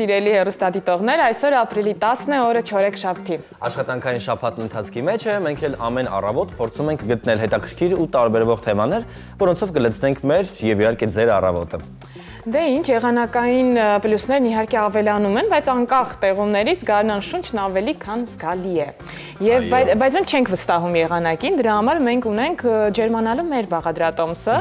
Սիրելի հեռուստադիտողներ, այսօր ապրիլի 10-ն է, օրը չորեքշաբթի։ Աշխատանքային շաբաթն ընթացքի մեջ է, մենք էլ ամեն առավոտ փորձում ենք գտնել հետաքրքիր ու տարբերվող թեմաներ, որոնցով կլցնենք մեր եւ իհարկե ձեր առավոտը։ Դե ինչ, եղանակային պլյուսներն իհարկե ավելանում են, բայց անկախ տեղումներից գարնան շունչն ավելի քան զգալի է։ Բայց մենք չենք վստահում եղանակին, դրա համար մենք ունենք ջերմանալու մեր բաղադրատոմսը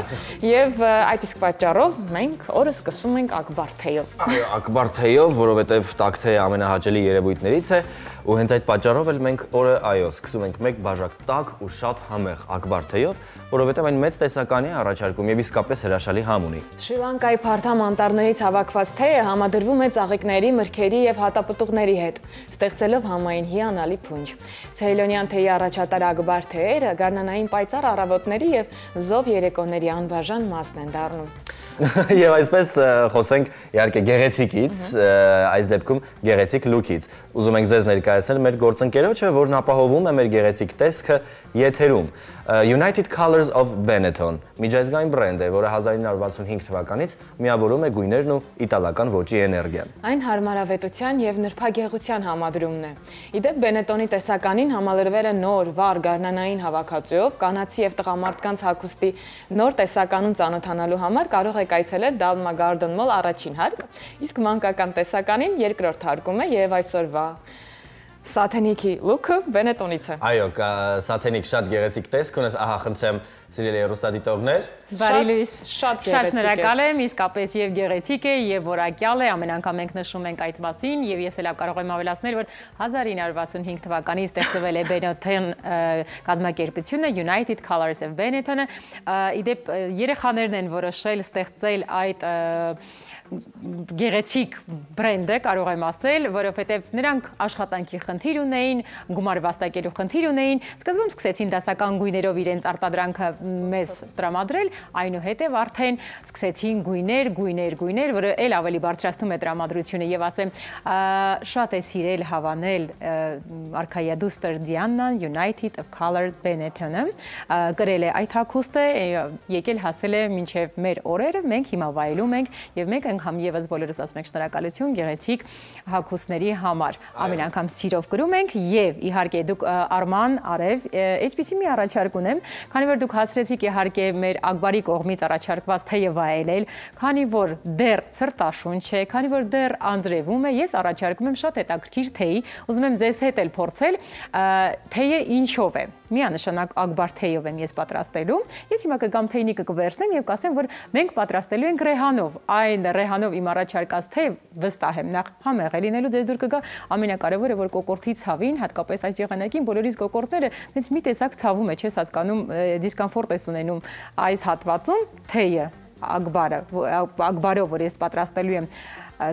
եւ այդ իսկ պատճառով մենք օրը սկսում ենք ակբար թեյով։ Այո, ակբար թեյով, որովհետեւ տաք թեյը ամենահաճելի երևույթներից է, ու հենց այդ պատճառով էլ մենք օրը այո, սկսում ենք մեկ բաժակ տաք ու շատ համեղ ակբար թեյով, որովհետեւ այն մեծ տեսականի է առաջարկում եւ իսկապես հրաշալի համ ունի։ Շրի Լանկայի փարթամ անտառներից հավաքված թեյը համադրվում է ծաղիկների, մրգերի եւ հատապտուղների հետ, ստեղծելով համային հիանալի փունջ։ Ցեյլոնյան թեյի առաջատար ակբար թեյերը գարնանային պայծառ առավոտների եւ զով երեկոների անբաժան մասն են դառնում։ Եվ այսպես խոսենք իհարկե գեղեցիկից, այս դեպքում գեղեցիկ լուքից։ Ուզում ենք ձեզ ներկայացնել մեր գործընկերոջը, որն ապահովում է մեր գեղեցիկ տեսքը եթերում։ United Colors of Benetton միջազգային բրենդ է, որը 1965 թվականից միավորում է գույներն ու իտալական ոճի էներգիան։ Այն հարմարավետության եւ նրբագեղության համադրումն է։ Իդեպ Benetton-ի տեսականին համալրվել է նոր վառ գարնանային հավաքածուով, կանացի եւ տղամարդկանց հագուստի նոր տեսականուն ծանոթանալու համար կարող եք այցելել Dalma Garden Mall առաջին հարկ, իսկ մանկական տեսականին երկրորդ հարկում է եւ այսօրվա Սաթենիկի լուքը Benetton-ից է։ Այո, Սաթենիկ շատ գեղեցիկ տեսք ունես, ահա խնդրեմ սիրելի հեռուստադիտողներ։ Բարի լույս, շատ շնորհակալ եմ, իսկապես եւ գեղեցիկ է եւ որակյալ է, ամեն անգամ մենք նշում ենք այդ մասին եւ ես էլ կարող եմ ավելացնել, որ 1965 թվականից ստեղծվել է Benetton կազմակերպությունը United Colors of Benetton-ը, իդեպ երեխաներն են որոշել ստեղծել այդ գեղեցիկ բրենդը, կարող եմ ասել, որովհետև նրանք աշխատանքի խնդիր ունեին, գումար վաստակելու խնդիր ունեին, սկզբում սկսեցին դասական գույներով իրենց արտադրանքը մեզ տրամադրել, այնուհետև արդեն սկսեցին գույներ, որը էլ ավելի բարձրացնում է տրամադրությունը եւ ասեմ, շատ է սիրել հավանել արքայադուստր Դիանան United Color Benetton-ը, գրել է այդ հագուստը, եկել հասել է մինչև մեր օրերը, մենք հիմա վայելում ենք եւ մենք անգամ եւս բոլորս ասում ենք շնորհակալություն գեղեցիկ հագուստների համար։ Ամեն անգամ սիրով գրում ենք եւ իհարկե դուք Արման, Արև, այսպեսի մի առաջարկ ունեմ, քանի որ դուք հասցրեցիք իհարկե մեր Ակբարի կողմից առաջարկված թեյը վայելել, քանի որ դեռ ցրտաշունչ է, քանի որ դեռ անձրևում է, ես առաջարկում եմ շատ հետաքրքիր թեյ, ուզում եմ ձեզ հետ էլ փորձել թեյը ինչով է։ Միանշանակ Ակբար թեյով եմ ես պատրաստելու։ Ես հիմա կգամ թեյնիկը կվերցնեմ եւ կասեմ, որ մենք պատրաստելու ենք ռեհանով։ Այն ռեհանով իմ առաջարկած թեյ վստահ եմ նախ համեղ է լինելու, ձեզ դուր կգա ամենակարևորը, որ կոկորտի ցավին, հատկապես այս եղանակին բոլորիս կոկորտները հենց մի տեսակ ցավում է, չես հասկանում, դիսկոմֆորտ ես ունենում այս հատվածում թեյը Ակբարով, որ ես պատրաստելու եմ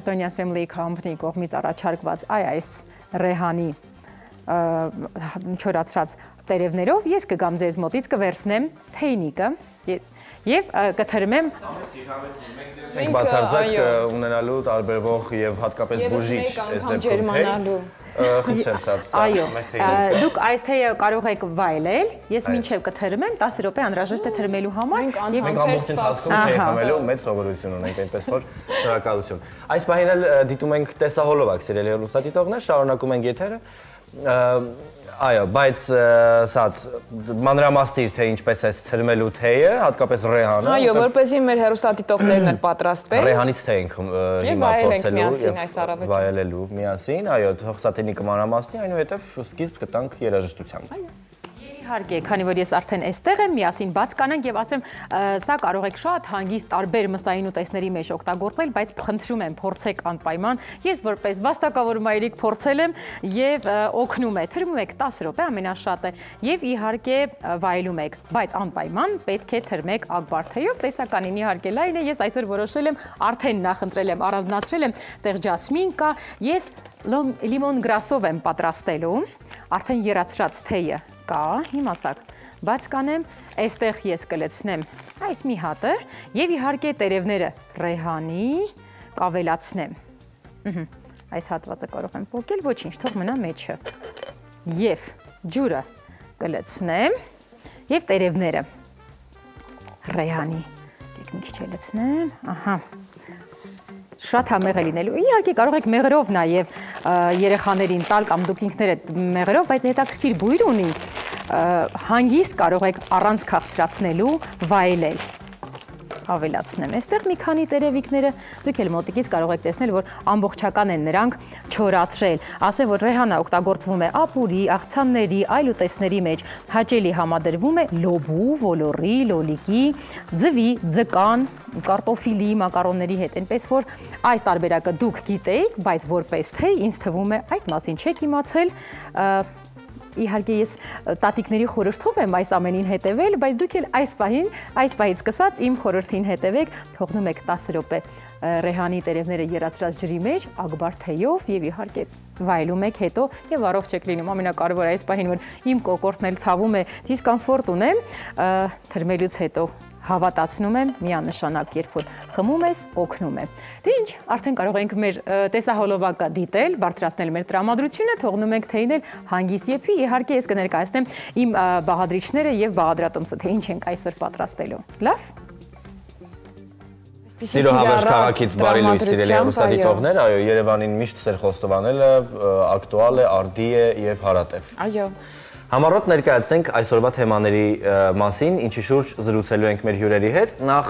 Tonia's Family Company կողմից առաջարկված այս ռեհանի չորացրած տերևներով ես կգամ ձեզ մոտից կվերցնեմ թեյնիկը եւ կթրմեմ մենք բացարձակ ունենալու տարբերվող եւ հատկապես բուժիչ այս դեպքում խնդրեմ ցած այո դուք այս թեյը կարող եք վայելել ես մինչեւ կթրմեմ 10 րոպե անհրաժեշտ է թրմելու համար եւ մենք ամբողջ ընթացքում թեյ խմելու մեծ սովորություն ունենք այնպես որ շնորհակալություն այս պահին էլ դիտում ենք տեսահոլովակ սիրելի հեռուստադիտողներ շարունակում ենք եթերը Այո, բայց սա մանրամասնիր թե ինչպես է թրմելու թեյը, հատկապես ռեհանը։ Այո, որպեսզի մեր հեռուստադիտողներն էլ պատրաստեն։ Ռեհանից թեյ ենք հիմա փորձելու եւ վայելելու միասին, այո, թող սա թեյնիկը մանրամասնի, այնուհետեւ սկիզբ կտանք երաժշտությամբ։ Իհարկե, քանի որ ես արդեն այստեղ եմ, միասին բաց կանենք եւ ասեմ, սա կարող եք շատ հանգիստ տարբեր մսային ուտեստների մեջ օգտագործել, բայց խնդրում եմ փորձեք անպայման։ Ես որպես վաստակավոր մայրիկ փորձել եմ եւ օգնում է։ Թրմում եք 10 րոպե ամենաշատը եւ իհարկե վայելում եք, բայց անպայման պետք է թրմեք ակբարթեյով, տեսականին իհարկե լայն է, ես այսօր որոշել եմ արդեն նախընտրել եմ, առանձնացրել եմ, տեղ ջասմին կա, ես լիմոն գրասով եմ պատրաստելու, արդեն եռացրած թեյը կա, հիմա սա բաց կանեմ, այստեղ ես կլցնեմ այս մի հատը եւ իհարկե տերևները ռեհանի կավելացնեմ։ Այս հատվածը կարող եմ փոկել, ոչինչ, թող մնա մեջը։ Եվ ջուրը կլցնեմ եւ տերևները ռեհանի։ Եկեք մի քիչ լցնեմ, ահա։ Շատ համեղ է լինելու։ Իհարկե կարող եք մեղրով նաև երեխաներին տալ կամ դուք ինքներդ մեղրով, բայց հետաքրքիր բույր ունի, հանգիստ կարող եք առանց քաղցրացնելու վայելել։ Ավելացնեմ այստեղ մի քանի տերևիկները, դուք էլ մոտիկից կարող եք տեսնել, որ ամբողջական են նրանք չորացրել։ Ասեմ, որ ռեհանը օգտագործվում է ապուրի, աղցանների, այլ ուտեստների մեջ, հաճելի համադրվում է լոբու, ոլորի, լոլիկի, ձվի, ձկան, կարտոֆիլի, մակարոնների հետ, այնպես որ այս տարբերակը դուք գիտեիք, բայց որպես թե ինձ թվում է այդ մասին չեք իմացել։ Իհարկե ես տատիկների խորհրդով եմ այս ամենին հետևել, բայց դուք էլ այս պահից սկսած իմ խորհրդին հետևեք, թողնում եք 10 րոպե ռեհանի տերևները եռացրած ջրի մեջ, ակբար թեյով եւ իհարկե վայելում եք հետո եւ առողջ եք լինում։ Ամենակարևորը այս պահին, որ իմ կոկորտն էլ ցավում է, դիսկոմֆորտ ունեմ, թրմելուց հետո հավատացնում եմ միանշանակ, երբ որ խմում ես, օգնում է։ Դե ինչ, արդեն կարող ենք մեր տեսահոլովակը դիտել, բարձրացնել մեր տրամադրությունը, թողնում ենք թեյն էլ հանգիստ եփի, իհարկե ես կներկայացնեմ իմ բաղադրիչները եւ բաղադրատոմսը, թե ինչ ենք այսօր պատրաստելու։ Լավ։ Սիրո հավերժ քաղաքից բարի լույս սիրելի հեռուստադիտողներ, այո, Երևանին միշտ Սեր Խոստովանելը ակտուալ է, արդի է եւ հարատև։ Այո։ Համառոտ ներկայացնենք այսօրվա թեմաների մասին, ինչի շուրջ զրուցելու ենք մեր հյուրերի հետ, նախ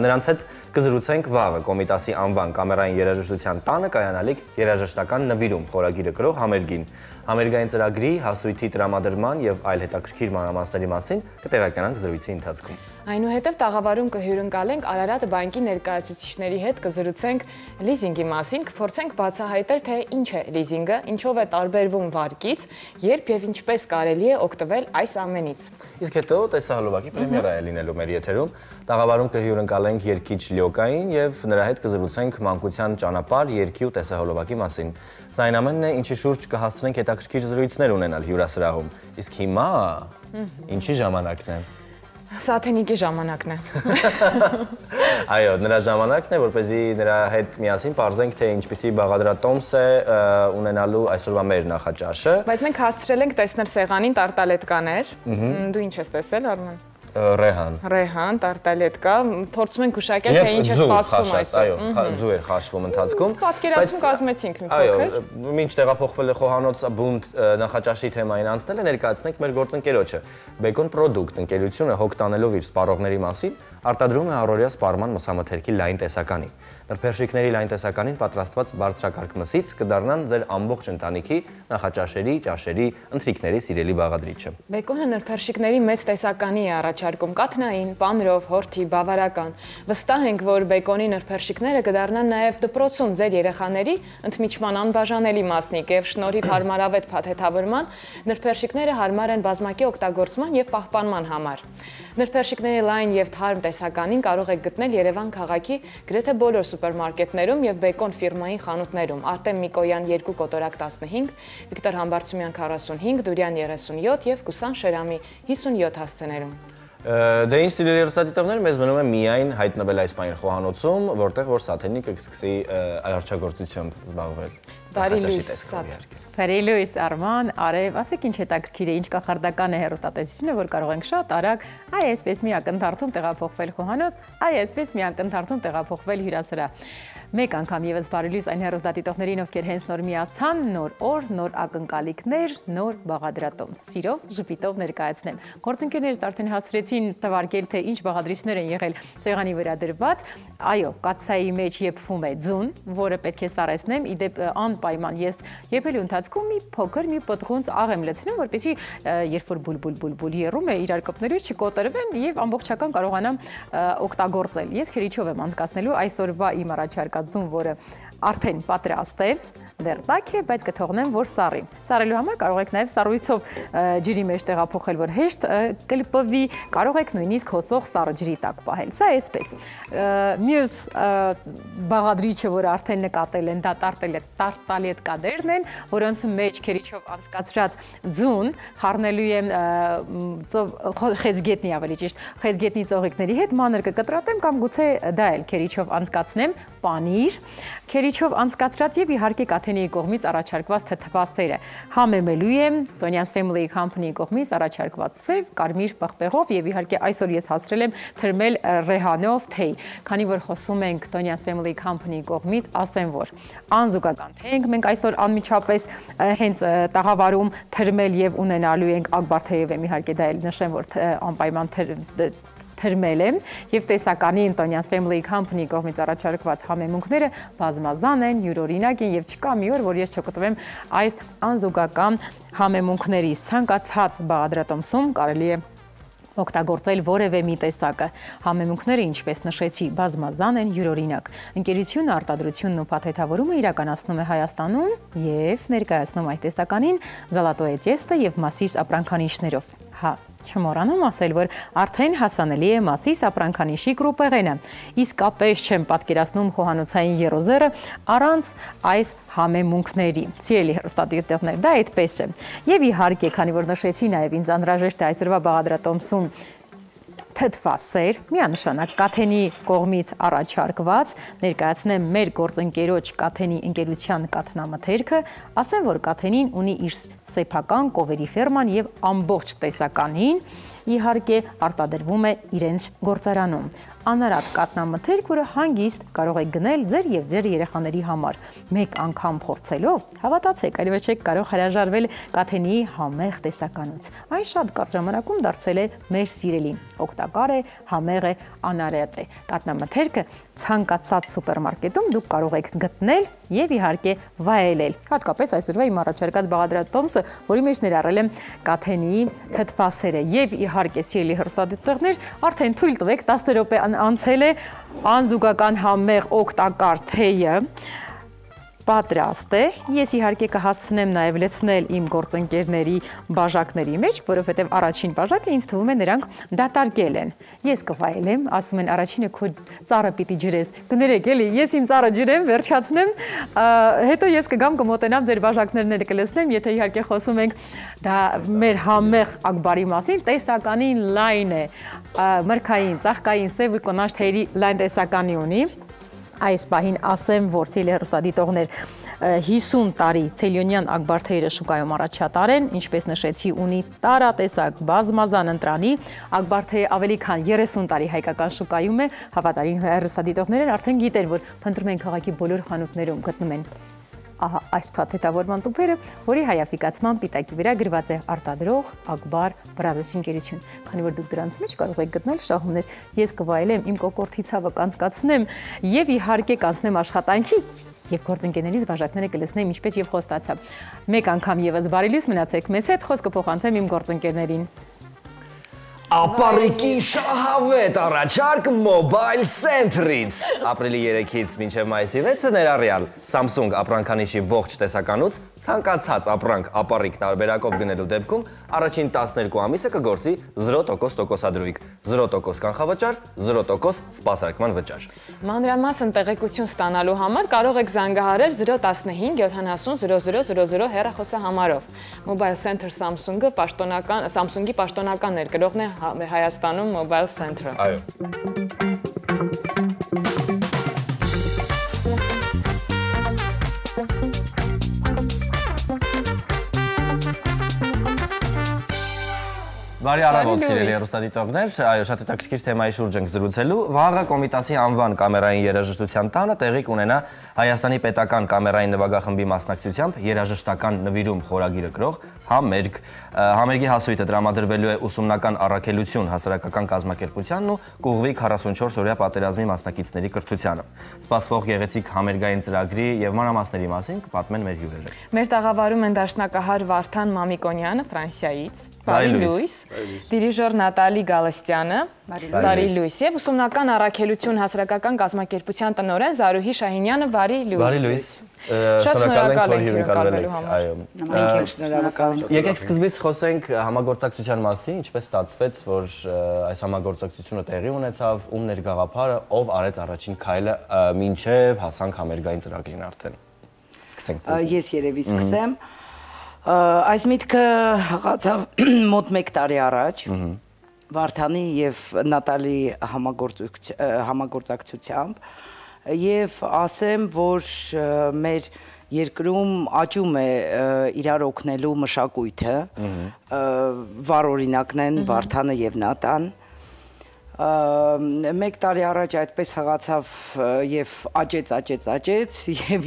նրանց հետ կզրուցենք վաղը Կոմիտասի անվան կամերային երաժշտության տանը կայանալիք երաժշտական նվիրում խորագիրը կրող համերգին։ Համերգային ծրագրի, հասույթի տրամադրման եւ այլ հետաքրքիր մանրամասների մասին կտեղականանք զրույցի ընթացքում։ Այնուհետև տաղավարում կհյուրընկալենք Արարատ բանկի ներկայացուցիչների հետ կզրուցենք լիզինգի մասին, կփորձենք բացահայտել, թե ինչ է լիզինգը, ինչով է տարբերվում վարկից, երբ եւ ինչպես կարելի է օգտվել այս ամենից։ Իսկ հետո տեսահոլովակի պրեմիերա է լինելու մեր եթերում։ Տաղավարում կհյուրընկալենք երգիչ Լյոկային եւ նրա հետ կզրուցենք մանկության ճանապարհ երգի ու տեսահոլովակի մասին։ Սա այն ամենն է, ինչի շուրջ կհասցնենք հետաքրքիր զրույցներ ունենալ հյուրասրահում։ Իսկ հիմա ինչի ժամանակն է։ Սաթենիկի ժամանակն է։ Այո, նրա ժամանակն է, որպեսզի նրա հետ միասին պարզենք, թե ինչպիսի բաղադրատոմս է ունենալու այսօրվա մեր նախաճաշը։ Բայց մենք հասցրել ենք տեսնել սեղանին տարտալետկաներ։ Դու ինչ ես տեսել, Արման։ Ռեհան, տարտալետկա, փորձում ենք գուշակել, թե ինչ է սպասվում այսօր։ Այո, ձու էր խաշվում ընթացքում։ Պատկերացում կազմեցինք մի փոքր։ Այո, մինչ տեղափոխվել է խոհանոց բունդ նախաճաշի թեմային անցնել է, ներկայացնենք մեր գործընկերոջը։ Բեկոն Պրոդուկտ ընկերությունը հոգ տանելով իր սպառողների մասին արտադրում է առօրյա սպառման մսամթերքի լայն տեսականի։ Նրբերշիկների լայն տեսականին պատրաստված բարձրակարգ մսից կդառնան ձեր ամբողջ ընտանիքի նախաճաշերի, ճաշերի, ընթրիքների սիրելի բաղադրիչը։ Բեկոնը նրբերշիկների մեծ տեսականի է առաջարկում կաթնային, պանրով, հորթի, բավարական։ Վստահ ենք, որ բեկոնի նրբերշիկները կդառնան նաև դպրոցում ձեր երեխաների ընդմիջման անբաժանելի մասնիկ եւ շնորհիվ հարմարավետ փաթեթավորման նրբերշիկները հարմար են բազմակի օգտագործման եւ պահպանման համար։ Նրբերշիկների լայն եւ թարմ տեսականին կարող եք գտնել Երևան քաղաքի գրեթե բոլոր սուպերմարկետներում եւ Բեկոն ֆիրմային խանութներում։ Արտեմ Միկոյան 2 կոտորակ 15, Վիկտոր Համբարձումյան 45, Դուրյան 37 եւ Կուսան Շերամի 57 հասցեներում։ Դե ինչ սիրելի հեռուստադիտողներ, մեզ մնում է միայն հայտնվել այս պահին խոհանոցում, որտեղ որ Սաթենիկը կսկսի արարչագործությամբ զբաղվել։ Բարի լույս, Սաթ։ Բարի լույս, Արման, Արև, ասեք ինչ հետաքրքիր է, ինչ կախարդական է հեռուստատեսությունը, որ կարող ենք շատ արագ այ այսպես մի ակնթարթում տեղափոխվել խոհանոց, այ այսպես մի ակնթարթում տեղափոխվել հյուրասրահ։ Մեկ անգամ եւս բարի լույս այն հեռուստադիտողներին, ովքեր հենց նոր միացան, նոր օր, նոր ակնկալիքներ, նոր բաղադրատոմս։ Սիրով ժպիտով ներկայացնեմ։ Գործընկերներս արդեն հասցրեցին թվարկել, թե ինչ բաղադրիչներ են եղել սեղանի վրա դրված։ Այո, կաթսայի մեջ եփվում է ձուն, որը պետք է սառեցնեմ, իդեպ անպայման ես եփելու ընթացքում մի փոքր մի պտղունց աղ եմ լցնում, որպեսզի երբ որ բուլ երում է իրար կպներից չկոտրվեն եւ ամբողջական կարողանամ օգտագործել։ Ես քերիչով եմ անցկացնելու այսօրվա իմ առաջարկած ձուն, որը արդեն պատրաստ է, դեռ տաք է, բայց կթողնեմ, որ սառի։ Սառելու համար կարող եք նաև սառույցով ջրի մեջ տեղափոխել, որ հեշտ կլպվի, կարող եք նույնիսկ հոսող սառը ջրի տակ պահել։ Սա այսպես։ Մյուս բաղադրիչը, որը արդեն նկատել են, դա տարտալետ կադերն են, որոնց մեջ քերիչով անցկացրած ձուն խառնելու եմ խեցգետնի, ավելի ճիշտ, խեցգետնի ծաղիկների հետ մանր կկտրատեմ կամ գուցե դա էլ քերիչով անցկացնեմ պանիր, քերիչով անցկացրած եւ իհարկե Կաթենիի կողմից առաջարկված թթվասերը համեմելու եմ Տոնյան's Family Company-ի կողմից առաջարկված սև, կարմիր պղպեղով եւ իհարկե այսօր ես հասցրել եմ թրմել ռեհանով թեյ, քանի որ խոսում ենք Տոնյան's Family Company-ի կողմից, ասեմ որ անզուգական թեյ ենք մենք այսօր անմիջապես հենց տաղավարում թրմել եւ ունենալու ենք ակբարթեյով եմ իհարկե դա էլ նշեմ որ անպայման թրմել եմ եւ տեսականին Տոնյան's Family Company կողմից առաջարկված համեմունքները բազմազան են, յուրօրինակ են եւ չկա մի օր, որ ես չգտնվեմ այս անզուգական համեմունքներից։ Ցանկացած բաղադրատոմսում կարելի է օգտագործել որևէ մի տեսակը։ Համեմունքները, ինչպես նշեցի, բազմազան են, յուրօրինակ։ Ընկերությունը արտադրությունն ու փաթեթավորումը իրականացնում է Հայաստանում եւ ներկայացնում այդ տեսականին Zolatoe Tiesto եւ Massis ապրանքանիշներով։ Չմոռանում ասել, որ արդեն հասանելի է Massis ապրանքանիշի կրուպեղենը։ Իսկապես չեմ պատկերացնում խոհանոցային երոզերը առանց այս համեմունքների։ Սիրելի հեռուստադիտողներ, դա այդպես է։ Եվ իհարկե, քանի որ նշեցի նաև ինձ անհրաժեշտ է այսօրվա բաղադրատոմսում թթվասեր, միանշանակ Կաթենի կողմից առաջարկված, ներկայացնեմ մեր գործընկերոջ Կաթենի ընկերության կաթնամթերքը, ասեմ, որ Կաթենին ունի իր սեփական կովերի ֆերման եւ ամբողջ տեսականին իհարկե արտադրվում է իրենց գործարանում։ Անարատ կատնամթերք, որը հանգիստ կարող եք գնել ձեր եւ ձեր երեխաների համար։ Մեկ անգամ փորձելով, հավատացեք, այլևս չեք կարող հրաժարվել Կաթենիի համեղ տեսականուց։ Այն շատ կարճ ժամանակում դարձել է մեր սիրելի, օգտակար է, համեղ է, անարատ է։ Կատնամթերքը ցանկացած սուպերմարկետում դուք կարող եք գտնել եւ իհարկե վայելել։ Հատկապես այսօրվա իմ առաջարկած բաղադրատոմսը, որի մեջ ներառել եմ Կաթենիի թթվասերը եւ իհարկե սիրելի հեռուստադիտողներ, արդեն թույլ տվեք 10 րոպե անցել է անզուգական համեղ օգտակար թեյը պատրաստ է։ Ես իհարկե կհասցնեմ նաև լցնել իմ գործընկերների բաժակների մեջ, որովհետև առաջին բաժակը ինձ թվում է նրանք դատարկել են։ Ես կվայելեմ, ասում են առաջինը քո ծառը պիտի ջրես։ Կներեք էլի, ես իմ ծառը ջրեմ, վերջացնեմ, հետո ես կգամ կմոտենամ ձեր բաժակներն կլցնեմ, եթե իհարկե խոսում ենք դա մեր համեղ ակբարի մասին, տեսականին լայն է, մրգային, ծաղկային, սև ու կոնաչ թեյերի լայն տեսականի ունի։ Այս պահին ասեմ, որ սիրելի հեռուստադիտողներ 50 տարի ցելյոնյան ակբարթեյրը շուկայում առաջատար են, ինչպես նշեցի, ունի տարատեսակ բազմազան ընտրանի, ակբարթեյը ավելի քան 30 տարի հայկական շուկայում է, հավատարիմ հեռուստադիտողներն արդեն գիտեն, որ փնտրում են քաղաքի բոլոր խանութներում գտնում են ահա այս փաթեթավորման տուփերը, որի հայաֆիկացման պիտակի վրա գրված է արտադրող Ակբար Brothers ընկերություն։ Քանի որ դուք դրանց մեջ կարող եք գտնել շահումներ, ես կվայելեմ իմ կոկորտի ցավը կանցկացնեմ եւ իհարկե կանցնեմ աշխատանքի եւ գործընկերներից բաժակները կլցնեմ ինչպես եւ խոստացա։ Մեկ անգամ եւս բարի լույս մնացեք մեզ հետ, խոսքը փոխանցեմ իմ գործընկերներին։ Ապարիկի շահավետ առաջարկ Mobile Center-ից։ Ապրիլի 3-ից մինչև մայիսի 6-ը ներառյալ Samsung ապրանքանիշի ողջ տեսականուց ցանկացած ապրանք ապարիկ տարբերակով գնելու դեպքում առաջին 12 ամիսը կգործի 0% տոկոսադրույք, 0% կանխավճար, 0% սպասարկման վճար։ Մանրամասն տեղեկություն ստանալու համար կարող եք զանգահարել 015 70 0000 հեռախոսահամարով։ Mobile Center Samsung-ը Samsung-ի պաշտոնական ներգրողն է Հայաստանում Mobile Center-ը։ Այո։ Բարի առավոտ, սիրելի հեռուստադիտողներ, այո, շատ հետաքրքիր թեմայի շուրջ ենք զրուցելու։ Վաղը Կոմիտասի անվան կամերային երաժշտության տանը տեղի կունենա Հայաստանի պետական կամերային նվագախմբի մասնակցությամբ երաժշտական նվիրում խորագիրը կրող համերգ։ Համերգի հասույթը տրամադրվելու է ուսումնական առաքելություն հասարակական կազմակերպությանն ու կուղղվի 44-օրյա պատերազմի մասնակիցների կրթությանը։ Սպասվող գեղեցիկ համերգային ծրագրի եւ մանրամասների մասին կպատմեն մեր հյուրերը։ Մեր տաղավարում են դաշնակահար Վարդան Մամիկոնյանը Ֆրանսիայից, բարի լույս, դիրիժոր Նատալի Գալստյանը, բարի լույս եւ ուսումնական առաքելություն հասարակական կազմակերպության տնօրեն Զարուհի Շահինյանը, բարի լույս։ Բարի լույս։ Շնորհակալ ենք հյուրընկալվելու համար։ Այո։ Մենք ենք շնորհակալ։ Եկեք սկզբից խոսենք համագործակցության մասին, ինչպես ստացվեց, որ այս համագործակցությունը տեղի ունեցավ, ում ներգաղափարը, ով արեց առաջին քայլը մինչև հասանք համերգային ծրագրին արդեն։ Սկսենք։ Ես երևի սկսեմ։ Այս միտքը հղացավ մոտ 1 տարի առաջ Վարդանի եւ Նատալի համագործակցությամբ եւ ասեմ, որ մեր երկրում աճում է իրար օգնելու մշակույթը, վառ օրինակն են Վարդանը եւ Նատան։ 1 տարի առաջ այդպես հղացավ եւ աճեց եւ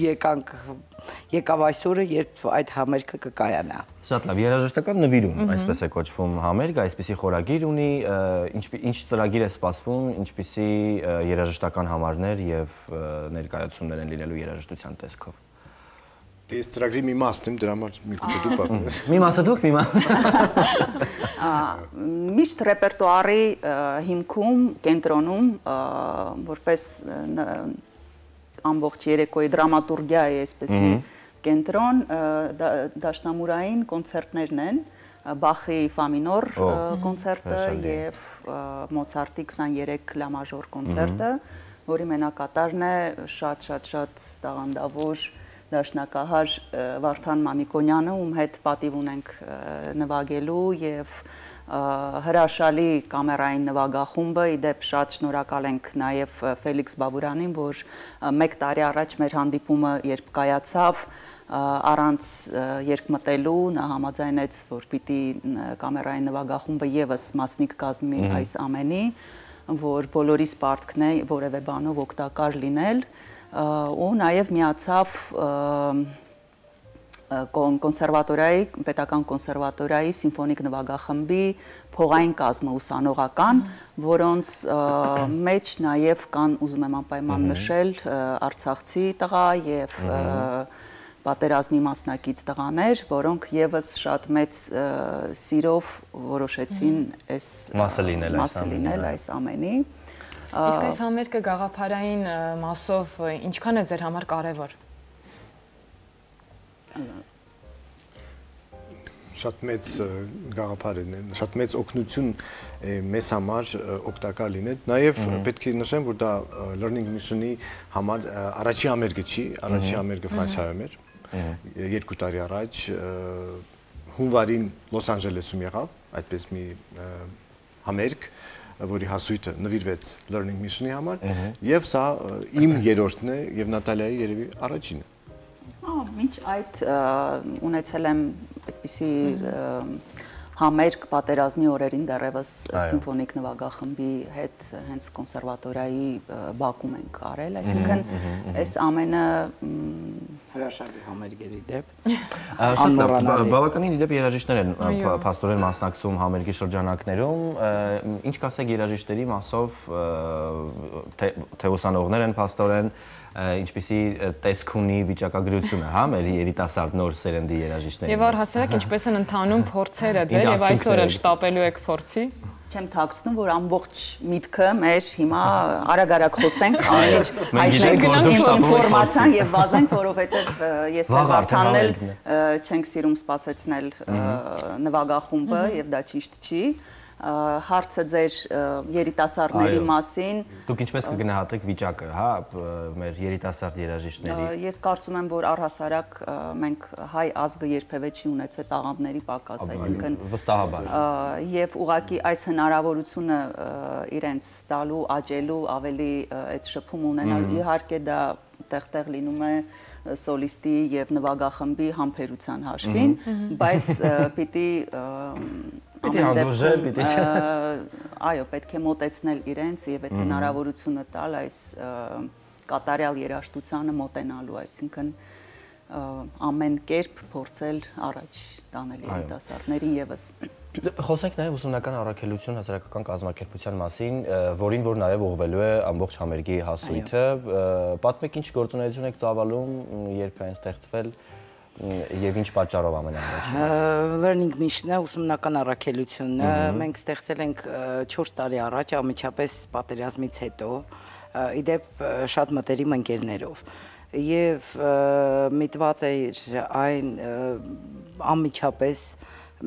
եկավ այսօրը, երբ այդ համերգը կկայանա։ Շատ լավ, երաժշտական նվիրում, այսպես է կոչվում համերգ, այսպիսի խորագիր ունի, ինչ ծրագիր է սպասվում, ինչպիսի երաժշտական համարներ եւ ներկայացումներ են լինելու երաժշտության տեսքով։ Ես ծրագրի մի մասն եմ, դրա համար միգուցե դու պատմես։ Մի մասը դուք, մի մասը։ Միշտ ռեպերտուարի հիմքում, կենտրոնում, որպես ամբողջ երեկոյի դրամատուրգիա է այսպեսի կենտրոն, դաշնամուրային կոնցերտներն են, Բախի Ֆա մինոր կոնցերտը եւ Մոցարտի 23 լա մաժոր կոնցերտը, որի մենակատարն է շատ տաղանդավոր դաշնակահար Վարդան Մամիկոնյանը, ում հետ պատիվ ունենք նվագելու եւ հրաշալի կամերային նվագախումբը, իդեպ շատ շնորհակալ ենք նաեւ Ֆելիքս Բաբուրանին, որ 1 տարի առաջ մեր հանդիպումը երբ կայացավ, առանց երկմտելու նա համաձայնեց, որ պիտի կամերային նվագախումբը եւս մասնիկ կազմի այս ամենի, որ բոլորիս պարտքն է որևէ բանով օգտակար լինել, ու նաեւ միացավ կոնսերվատորիայի, պետական կոնսերվատորիայի սիմֆոնիկ նվագախմբի փողային կազմը ուսանողական, որոնց մեջ նաեւ կան, ուզում եմ անպայման նշել, արցախցի տղա եւ պատերազմի մասնակից տղաներ, որոնք եւս շատ մեծ սիրով որոշեցին այս մասը լինել այս ամենի։ Իսկ այս համերգը գաղափարային մասով ինչքան է ձեր համար կարևոր։ Շատ մեծ գաղափար է, շատ մեծ օգնություն մեզ համար օգտակար լինել։ Նաև պետք է նշեմ, որ դա Learning Mission-ի համար առաջի համերգը չի, առաջի համերգը Ֆրանսիայում էր 2 տարի առաջ, հունվարին Լոս Անջելեսում եղավ այդպես մի համերգ, որի հասույթը նվիրվեց Learning Mission-ի համար, եւ սա իմ երրորդն է եւ Նատալիայի երևի առաջինը։ Մինչ այդ ունեցել եմ այդպիսի համերգ պատերազմի օրերին դեռևս սիմֆոնիկ նվագախմբի հետ հենց կոնսերվատորիայի Բաքում ենք արել, այսինքն այս ամենը հրաշալի համերգերի դեպ։ Բավականին իդեպ երաժիշտներ են փաստորեն մասնակցում համերգի շրջանակներում, ինչ կասեք երաժիշտերի մասով, թե ուսանողներ են փաստորեն, ինչպիսի տեսք ունի վիճակագրությունը, հա, մեր երիտասարդ նոր սերնդի երաժիշտների։ Եվ առհասարակ ինչպես են ընթանում փորձերը ձեր եւ այսօր էլ շտապելու եք փորձի։ Չեմ թաքցնում, որ ամբողջ միտքը մեր հիմա արագ խոսենք, ամեն ինչ ինֆորմացիան եւ վազենք, որովհետեւ ես եւ Վարդանն էլ չենք սիրում սպասեցնել նվագախումբը եւ դա ճիշտ չի։ Հարցը ձեր երիտասարդների մասին։ Դուք ինչպես կգնահատեք վիճակը, հա, մեր երիտասարդ երաժիշտների։ Ես կարծում եմ, որ առհասարակ մենք հայ ազգը երբևէ չի ունեցել տաղանդների պակաս, այսինքն վստահաբար։ Եվ ուղղակի այս հնարավորությունը իրենց տալու, աճելու, ավելի այդ շփում ունենալու, իհարկե դա տեղ լինում է սոլիստի եւ նվագախմբի համբերության հաշվին, բայց պիտի այո, պետք է մոտեցնել իրենց եւ այդ հնարավորությունը տալ այս կատարյալ երաժշտությանը մոտենալու, այսինքն ամեն կերպ փորձել առաջ տանել երիտասարդներին եւս։ Խոսենք նաև ուսումնական առաքելություն հասարակական կազմակերպության մասին, որին որ նաև ուղղվելու է ամբողջ համերգի հասույթը։ Պատմեք ինչ գործունեություն եք ծավալում, երբ են ստեղծվել եւ ինչ պատճառով ամենաառաջին։ Learning Mission-ը ուսումնական առաքելությունը մենք ստեղծել ենք 4 տարի առաջ, անմիջապես պատերազմից հետո, իդեպ շատ մտերիմ ընկերներով։ Եվ միտված էր այն անմիջապես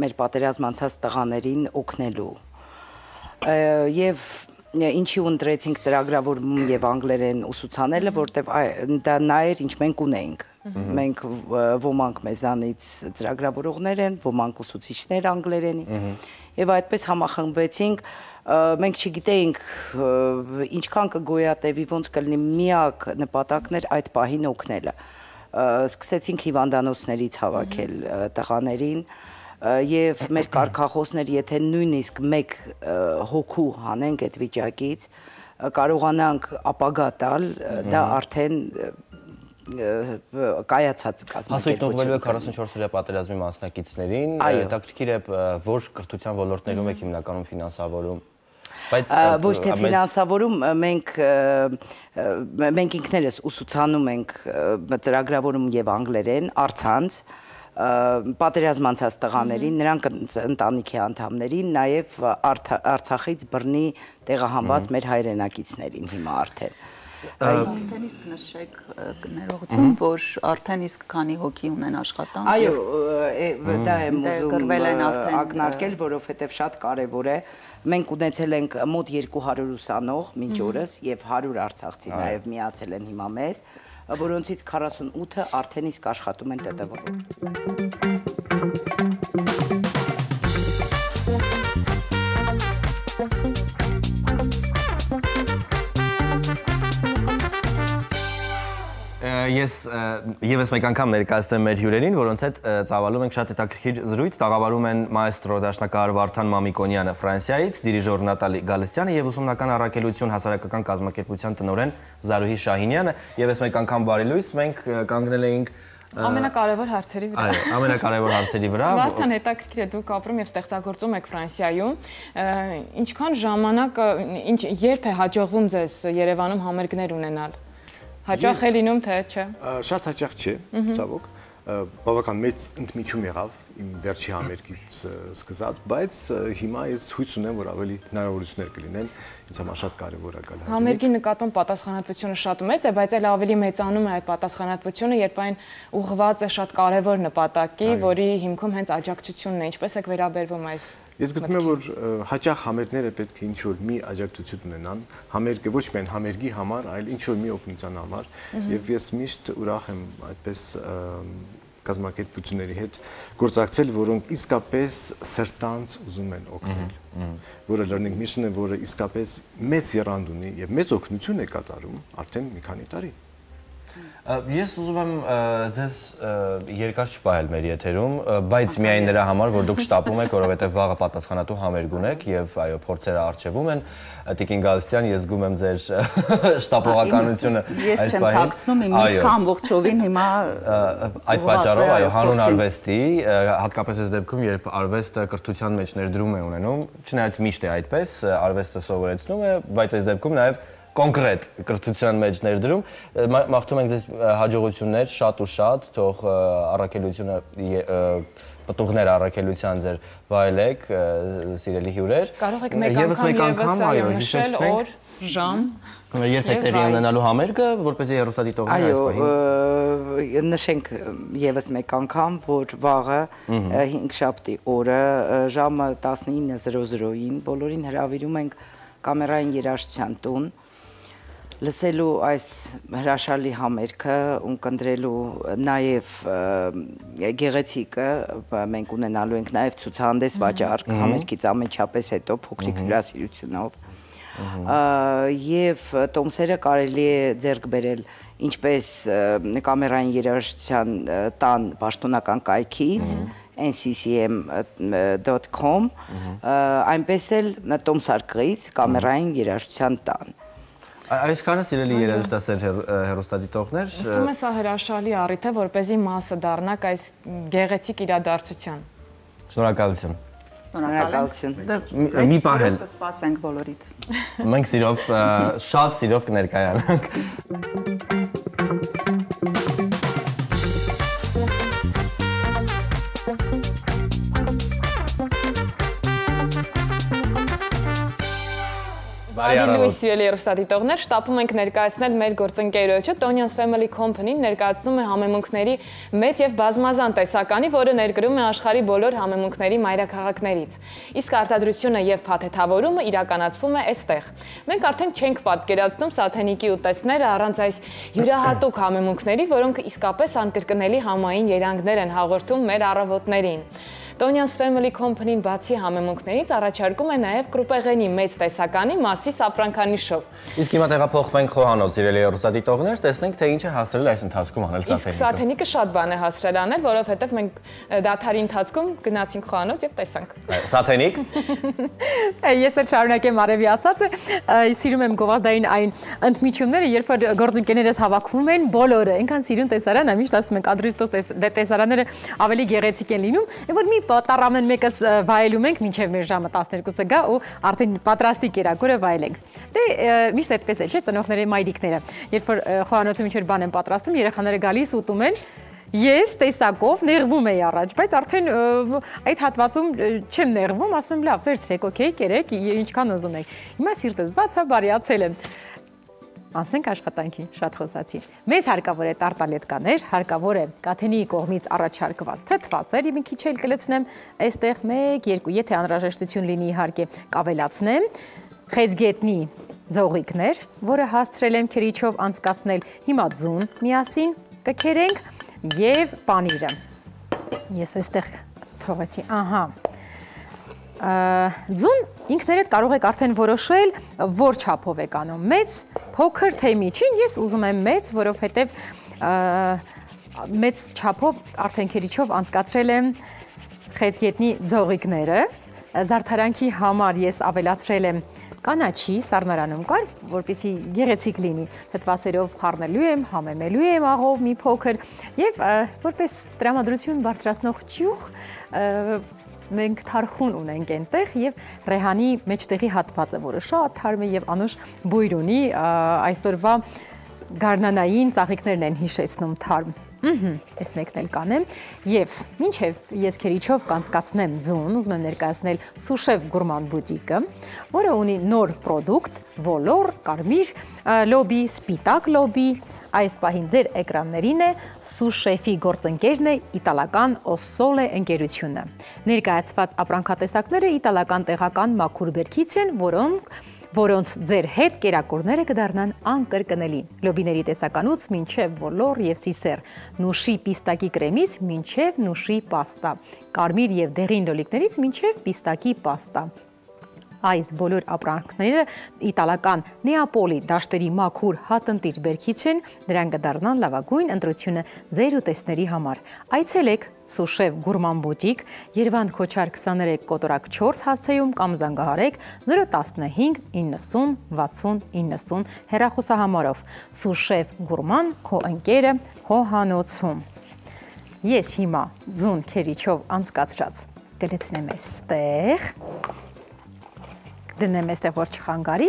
մեր պատերազմ անցած տղաներին օգնելու։ Եվ ինչի ընտրեցինք ծրագրավորում եւ անգլերեն ուսուցանելը, որտեվ դա նա էր, ինչ մենք ունեինք։ Մենք ոմանք մեզանից ծրագրավորողներ են, ոմանք ուսուցիչներ անգլերենի։ Եվ այդպես համախմբվեցինք, մենք չգիտեինք ինչքան կգոյատևի, ոնց կլինի, միակ նպատակն էր այդ պահին օգնելը։ Սկսեցինք հիվանդանոցներից հավաքել տղաներին եւ մեր կարգախոսներ, եթե նույնիսկ մեկ հոգու հանենք այդ վիճակից, կարողանանք ապագա տալ, դա արդեն կայացած կազմակերպություն։ Հասույթն ուղղվելու է 44-օրյա պատերազմի մասնակիցներին, հետաքրքիր է որ կրթության ոլորտներում եք հիմնականում ֆինանսավորում։ Ոչ թե ֆինանսավորում, մենք ինքներս ուսուցանում ենք ծրագրավորում եւ անգլերեն, առցանց պատերազմ անցած տղաներին, նրանք ընտանիքի անդամներին, նաև Արցախից բռնի տեղահանված մեր հայրենակիցներին հիմա արդեն։ Արդեն իսկ նշեք ներողություն, որ արդեն իսկ քանի հոգի ունեն աշխատանք։ Այո, դա եմ ուզում ակնարկել, որովհետև շատ կարևոր է։ Մենք ունեցել ենք մոտ 200 ուսանող մինչ օրս եւ 100 արցախցի նաև միացել են հիմա մեզ, որոնցից 48-ը արդեն իսկ աշխատում են ՏՏՎ-ում։ Ես եւս մեկ անգամ ներկայացնեմ մեր հյուրերին, որոնց հետ ծավալում ենք շատ հետաքրքիր զրույց, տաղավարում են մայստրո դաշնակահար Վարդան Մամիկոնյանը Ֆրանսիայից, դիրիժոր Նատալի Գալստյանը եւ ուսումնական առաքելություն հասարակական կազմակերպության տնօրեն Զարուհի Շահինյանը։ Եվս մեկ անգամ բարի լույս, մենք կանգնել էինք ամենակարևոր հարցերի վրա։ Այո, ամենակարևոր հարցերի վրա։ Վարդան, հետաքրքիր է, դուք ապրում եւ ստեղծագործում եք Ֆրանսիայում։ Ինչքան ժամանակ, երբ է հաջողվում ձեզ Երևանում համերգներ ունենալ։ Հաճախ է լինում, թե չէ։ Շատ հաճախ չէ, ցավոք, բավական մեծ ընդմիջում եղավ իմ վերջի համերգից սկսած, բայց հիմա ես հույս ունեմ, որ ավելի հնարավորություններ կլինեն, ինձ համար շատ կարևոր է գալ։ Համերգի նկատմամբ պատասխանատվությունը շատ մեծ է, բայց այլ ավելի մեծանում է այդ պատասխանատվությունը, երբ այն ուղղված է շատ կարևոր նպատակի, որի հիմքում հենց աջակցությունն է, ինչպես եք վերաբերվում այս։ Ես գտնում եմ, որ հաճախ համերգները պետք է ինչ-որ մի աջակցություն ունենան, համերգը ոչ միայն համերգի համար, այլ ինչ-որ մի օգնության համար, եւ ես միշտ ուրախ եմ այդպես կազմակերպությունների հետ գործակցել, որոնք իսկապես սրտանց ուզում են օգնել, որը Learning Mission-ը, որը իսկապես մեծ եռանդ ունի եւ մեծ օգնություն է կատարում արդեն մի քանի տարի։ Ես ուզում եմ ձեզ երկար չպահել մեր եթերում, բայց միայն նրա համար, որ դուք շտապում եք, որովհետև վաղը պատասխանատու համերգ ունեք եւ այո, փորձերը առջևում են։ Տիկին Գալստյան, ես զգում եմ ձեր շտապողականությունը այս պահին։ Ես չեմ թաքցնում, իմ միտքը ամբողջովին հիմա այդ պատճառով, այո, հանուն արվեստի, հատկապես այս դեպքում, երբ արվեստը կրթության մեջ ներդրում է ունենում, չնայած միշտ է այդպես, արվեստը սովորեցնում է, բայց այս դեպքում նաեւ կոնկրետ կրթության մեջ ներդրում, մաղթում ենք ձեզ հաջողություններ, շատ ու շատ, թող առաքելությունը պտուղներ առաքելության ձեր վայելեք, սիրելի հյուրեր։ Կարող եք մեկ անգամ այո նշել օր, ժամ։ Երբ է տեղի ունենալու համերգը, որպեսզի հեռուստադիտողները այս պահին նշենք եւս մեկ անգամ, որ վաղը 5-շաբթի օրը ժամը 19:00-ին բոլորին հրավիրում ենք կամերային երաժշտության տուն, լսելու այս հրաշալի համերգը, ունկնդրելու նաև գեղեցիկը, մենք ունենալու ենք նաև ցուցահանդես վաճառք համերգից ամենչապես հետո փոքրիկ հյուրասիրությունով, եւ տոմսերը կարելի է ձեռք բերել ինչպես կամերային երաժշտության տան պաշտոնական կայքից, nccm.com, այնպես էլ Տոմսարկղից կամերային երաժշտության տան։ Այսքանը սիրելի երաժշտասեր հեռուստադիտողներ։ Ըստ սա հրաշալի առիթ է, որպեսզի մասը դառնաք այս գեղեցիկ իրադարձության։ Շնորհակալություն։ Շնորհակալություն։ Մի պահ էլ կսպասենք բոլորիդ։ Մենք սիրով, շատ սիրով կներկայանանք։ Բարի սիրելի երեստատիտողներ, շտապում ենք ներկայացնել մեր գործընկերոջը Tonian's Family Company-ն ներկայացնում է համեմունքների մեծ եւ բազմազան տեսականի, որը ներկրում է աշխարհի բոլոր համեմունքների մայրաքաղաքներից։ Իսկ արտադրությունը եւ փաթեթավորումը իրականացվում է այստեղ։ Մենք արդեն չենք պատկերացնում Սաթենիկի ուտեստները առանց այս յուրահատուկ համեմունքների, որոնք իսկապես անկրկնելի համային երանգներ են հաղորդում մեր առավոտներին։ Tonian's Family Company-ն բացի համեմունքներից առաջարկում է նաև կրուպեղենի մեծ տեսականի մասի սապրանքանիշով։ Իսկ հիմա տեղափոխվենք խոհանոց, սիրելի երեստատիտողներ, տեսնենք թե ինչ է հասրել այս ընթացքում անել Սաթենիկը։ Իսկ Սաթենիկը շատ բան է հասրել անել, որովհետև մենք դաթարի ընթացքում գնացինք խոհանոց եւ տեսանք։ Սաթենիկ։ Ես էլ շարունակեմ Արևի ասածը, սիրում եմ գովազդային այն ընդմիջումները, երբ որ գործընկերներս հավաքվում են բոլորը, այնքան սիրուն տեսարան, միշտ ասում ենք ադրիստող տեսարանները ավելի գեղեցիկ են լինում, որ մի տառամեն մեկս վայելում ենք մինչև մեր ժամը 12-ը գա ու արդեն պատրաստի կերակուրը վայելենք։ Դե միշտ այդպես է, չէ՞, ծնողների մայրիկները, երբ որ խոհանոցը ինչ-որ բան են պատրաստում, երեխաները գալիս ուտում են, ես տեսակով նեղվում էի առաջ, բայց արդեն այդ հատվածում չեմ նեղվում, ասում եմ լավ, վերցրեք, օքեյ, կերեք, ինչքան ուզում եք։ Հիմա սիրտս բաց է, բարիացել եմ։ Անցնենք աշխատանքի, շատ խոսացի։ Մեզ հարկավոր է տարտալետկաներ, հարկավոր է Կաթենիի կողմից առաջարկված թթվածեր, մի քիչ էլ կլցնեմ, այստեղ 1-2, եթե անհրաժեշտություն լինի իհարկե կավելացնեմ, խեցգետնի ձողիկներ, որը հասցրել եմ քրիչով անցկացնել, հիմա ձուն միասին կքերենք եւ պանիրը։ Ես այստեղ թողեցի, ահա։ Ձուն ինքներդ կարող եք արդեն որոշել, որ չափով եք անում, մեծ, փոքր, թե միջին, ես ուզում եմ մեծ, որովհետև մեծ չափով արդեն քերիչով անցկացրել եմ խեցգետնի ձողիկները, զարդարանքի համար ես ավելացրել եմ կանաչի սառնարանում կար, որպեսզի գեղեցիկ լինի, թթվասերով խառնելու եմ, համեմելու եմ աղով մի փոքր եւ որպես տրամադրություն բարձրացնող ճյուղ մենք թարխուն ունենք այնտեղ եւ ռեհանի մեջտեղի հատվածը, որը շատ թարմ է եւ անուշ բույր ունի, այսօրվա գարնանային ծաղիկներն են հիշեցնում թարմ։ Այս մեկն էլ կանեմ եւ մինչեւ ես քերիչով կանցկացնեմ ձուն, ուզում եմ ներկայացնել Սուշեֆ գուրման բուտիկը, որը ունի նոր պրոդուկտ, ոլոր, կարմիր լոբի, սպիտակ լոբի, այս պահին ձեր էկրաններին է Սուշեֆի գործընկերն է իտալական Օսոլե ընկերությունը։ Ներկայացված ապրանքատեսակները իտալական տեղական մաքուր բերքից են, որոնց ձեր հետ կերակուրները կդառնան անկրկնելի։ Լոբիների տեսականուց մինչև ոլոր եւ սիսեր, նուշի պիստակի կրեմից մինչև նուշի պաստա, կարմիր եւ դեղին լոլիկներից մինչև պիստակի պաստա։ Այս բոլոր ապրանքները իտալական Նեապոլի դաշտերի մաքուր հատնտիր բերքից են, նրանք կդառնան լավագույն ընտրությունը ձեր ուտեստների համար։ Այցելեք Սուշեֆ գուրման բուտիկ, Երևան Քոչար 23 կոտորակ 4 հասցեում կամ զանգահարեք 015 90 60 90 հեռախոսահամարով։ Սուշեֆ գուրման քո ընկերը խոհանոցում։ Ես հիմա ձուն քերիչով անցկացրած կլցնեմ այստեղ։ Դնեմ այստեղ, որ չխանգարի,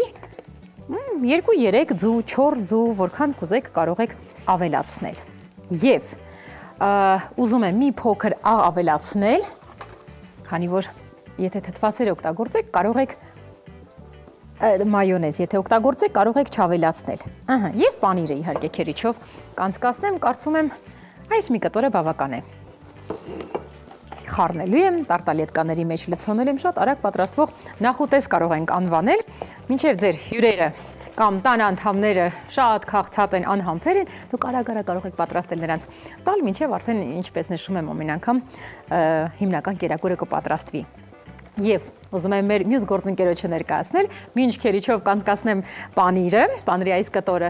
2-3 ձու, 4 ձու, որքան կուզեք կարող եք ավելացնել։ Եվ ուզում եմ մի փոքր աղ ավելացնել, քանի որ եթե թթվասեր օգտագործեք, կարող եք մայոնեզ, եթե օգտագործեք, կարող եք չավելացնել։ Եվ պանիրը իհարկե քերիչով կանցկացնեմ, կարծում եմ այս մի կտորը բավական է։ Խառնելու եմ, տարտալետկաների մեջ լցոնել եմ, շատ արագ պատրաստվող նախուտես կարող ենք անվանել, մինչև ձեր հյուրերը կամ տան անդամները շատ քաղցած են, անհամբեր են, դուք արագ-արագ կարող եք պատրաստել նրանց տալ, մինչև արդեն ինչպես նշում եմ ամեն անգամ հիմնական կերակուրը կպատրաստվի։ Եվ ուզում եմ մեր մյուս գործընկերոջը ներկայացնել, մինչ քերիչով կանցկացնեմ պանիրը, պանիրի այս կտորը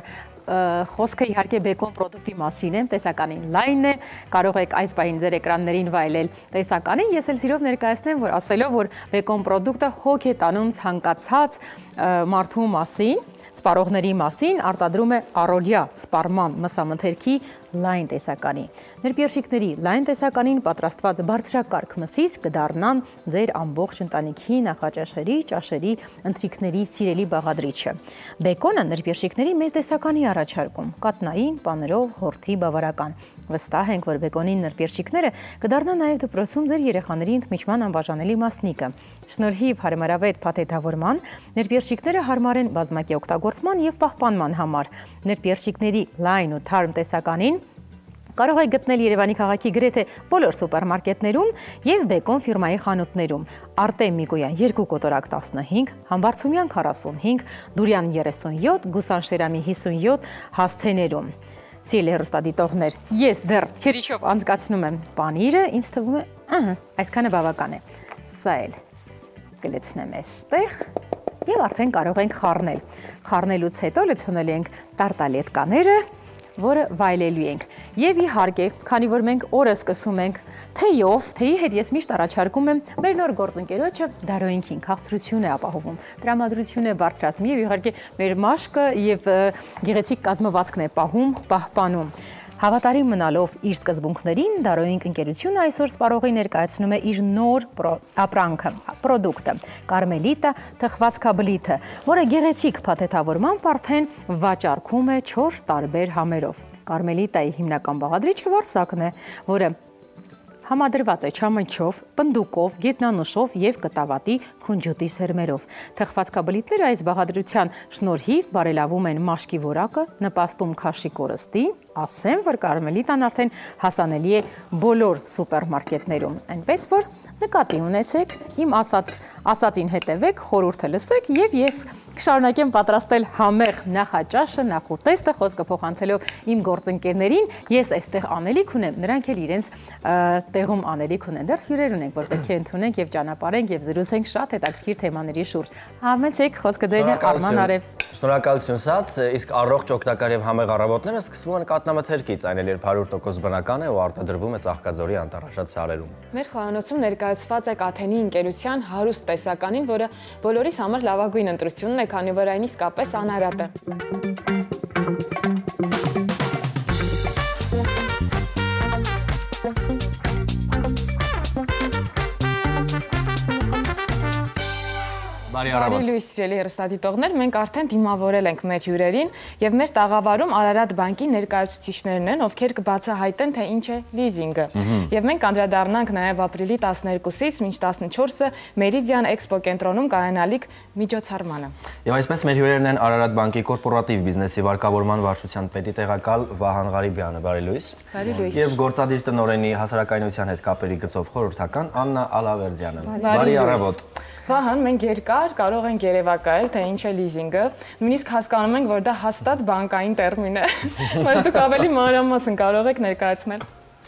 խոսքը իհարկե բեկոն պրոդուկտի մասին է, տեսականին լայն է, կարող եք այս պահին ձեր էկրաններին վայելել տեսականին, ես էլ սիրով ներկայացնեմ, որ ասելով, որ բեկոն պրոդուկտը հոգ է տանում ցանկացած մարդու մասին, սպառողների մասին, արտադրում է առօրյա սպառման մսամթերքի լայն տեսականի։ Ներպերշիկների լայն տեսականին պատրաստված բարձրակարգ մսից կդառնան ձեր ամբողջ ընտանիքի նախաճաշերի, ճաշերի, ընթրիքների սիրելի բաղադրիչը։ Բեկոնը ներպերշիկների մեր տեսականի առաջարկում, կատնային, պաներով, հորթի բավարական։ Վստահ ենք, որ բեկոնի ներպերշիկները կդառնան նաև դպրոցում ձեր երեխաների ընդմիջման անբաժանելի մասնիկը։ Շնորհիվ հարմարավետ փաթեթավորման, ներպերշիկները հարմար են բազմակի օգտագործման և պահպանման համար։ Ներպերշիկների լայն ու թարմ տեսականին կարող եք գտնել Երևանի քաղաքի գրեթե բոլոր սուպերմարկետներում և Բեկոն ֆիրմայի խանութներում։ Արտեմ Միկոյան 2 կոտորակ 15, Համբարձումյան 45, Դուրյան 37, Գուսանշերամի 57 հասցեներում։ Սիրելի հեռուստադիտողներ, ես դեռ քերիչով անցկացնում եմ պանիրը, ինձ թվում է, այսքանը բավական է։ Սա էլ կլցնեմ այստեղ և արդեն կարող ենք խառնել։ Խառնելուց հետո լցնել ենք տարտալետկաները, որը վայելելու ենք։ Եվ իհարկե, քանի որ մենք օրը սկսում ենք թեյով, թեյի հետ ես միշտ առաջարկում եմ մեր նոր գործընկերոջը դարոյինքին քաղցրություն է ապահովում, տրամադրություն է բարձրացնում և իհարկե մեր մաշկը և գեղեցիկ կազմվածքն է պահպանում։ Հավատարիմ մնալով իր սկզբունքներին, Դարոյինք ընկերությունը այսօր սպառողի ներկայացնում է իր նոր ապրանքը, պրոդուկտը, կարմելիտա թխվածքաբլիթը, որը գեղեցիկ փաթեթավորմամբ արդեն վաճառքում է 4 տարբեր համերով։ Կարմելիտայի հիմնական բաղադրիչը վարսակն է, որը համադրված է չամնչով, պնդուկով, գետնանուշով և կտավատի քունջուտի սերմերով։ Թխվածքաբլիթները այս բաղադրության շնորհիվ բարելավում են մաշկի որակը, նպաստում քաշի կորստին, ասեմ, որ կարմելիտան արդեն հասանելի է բոլոր սուպերմարկետներում, այնպես որ նկատի ունեցեք, իմ ասածին հետևեք, խորհուրդը լսեք և ես կշարունակեմ պատրաստել համեղ նախաճաշը, նախուտեստը, խոսքը փոխանցելով իմ գործընկերներին, ես այստեղ անելիք ունեմ, նրանք էլ իրենց տեղում անելիք ունեն, դեռ հյուրեր ունենք, որ պետք է ընդունենք և ճանապարհենք և զրուցենք շատ հետաքրքիր թեմաների շուրջ։ Համեցեք, խոսքը դերն է Արման Արև։ Շնորհակալություն Սաց, իսկ առողջ օգտակար և համեղ առավոտները սկսվում են կատնամթերքից, այն էլ երբ 100% բնական է ու արտադրվում է Ծաղկաձորի անտառաշատ սարերում։ Մեր խոհանոցում ներկայացված է Կաթենի ընկերության հարուստ տեսականին, որը բոլորիս համար լավագույն ընտրությունն է, քանի որ այն իսկապես անարատ է։ Բարի լույս, սիրելի հեռուստադիտողներ, մենք արդեն դիմավորել ենք մեր հյուրերին և մեր տաղավարում Արարատ բանկի ներկայացուցիչներն են, ովքեր կբացահայտեն, թե ինչ է լիզինգը։ Եվ մենք անդրադառնանք նաև ապրիլի 12-ից մինչ 14-ը Մերիդիան Էքսպո կենտրոնում կայանալիք միջոցառմանը։ Եվ այսպես մեր հյուրերն են Արարատ բանկի կորպորատիվ բիզնեսի վարկավորման վարչության պետի տեղակալ Վահան Ղարիբյանը, բարի լույս։ Բարի լույս։ Եվ գործադիր տնօրենի հասարակայնության հետ կապերի գծով խորհրդական Աննա Ալավերդյանը։ Բարի առավոտ։ Վահան, մենք երկար կարող ենք երևակայել, թե ինչ է լիզինգը, նույնիսկ հասկանում ենք, որ դա հաստատ բանկային տերմին է, բայց դուք ավելի մանրամասն կարող եք ներկայացնել,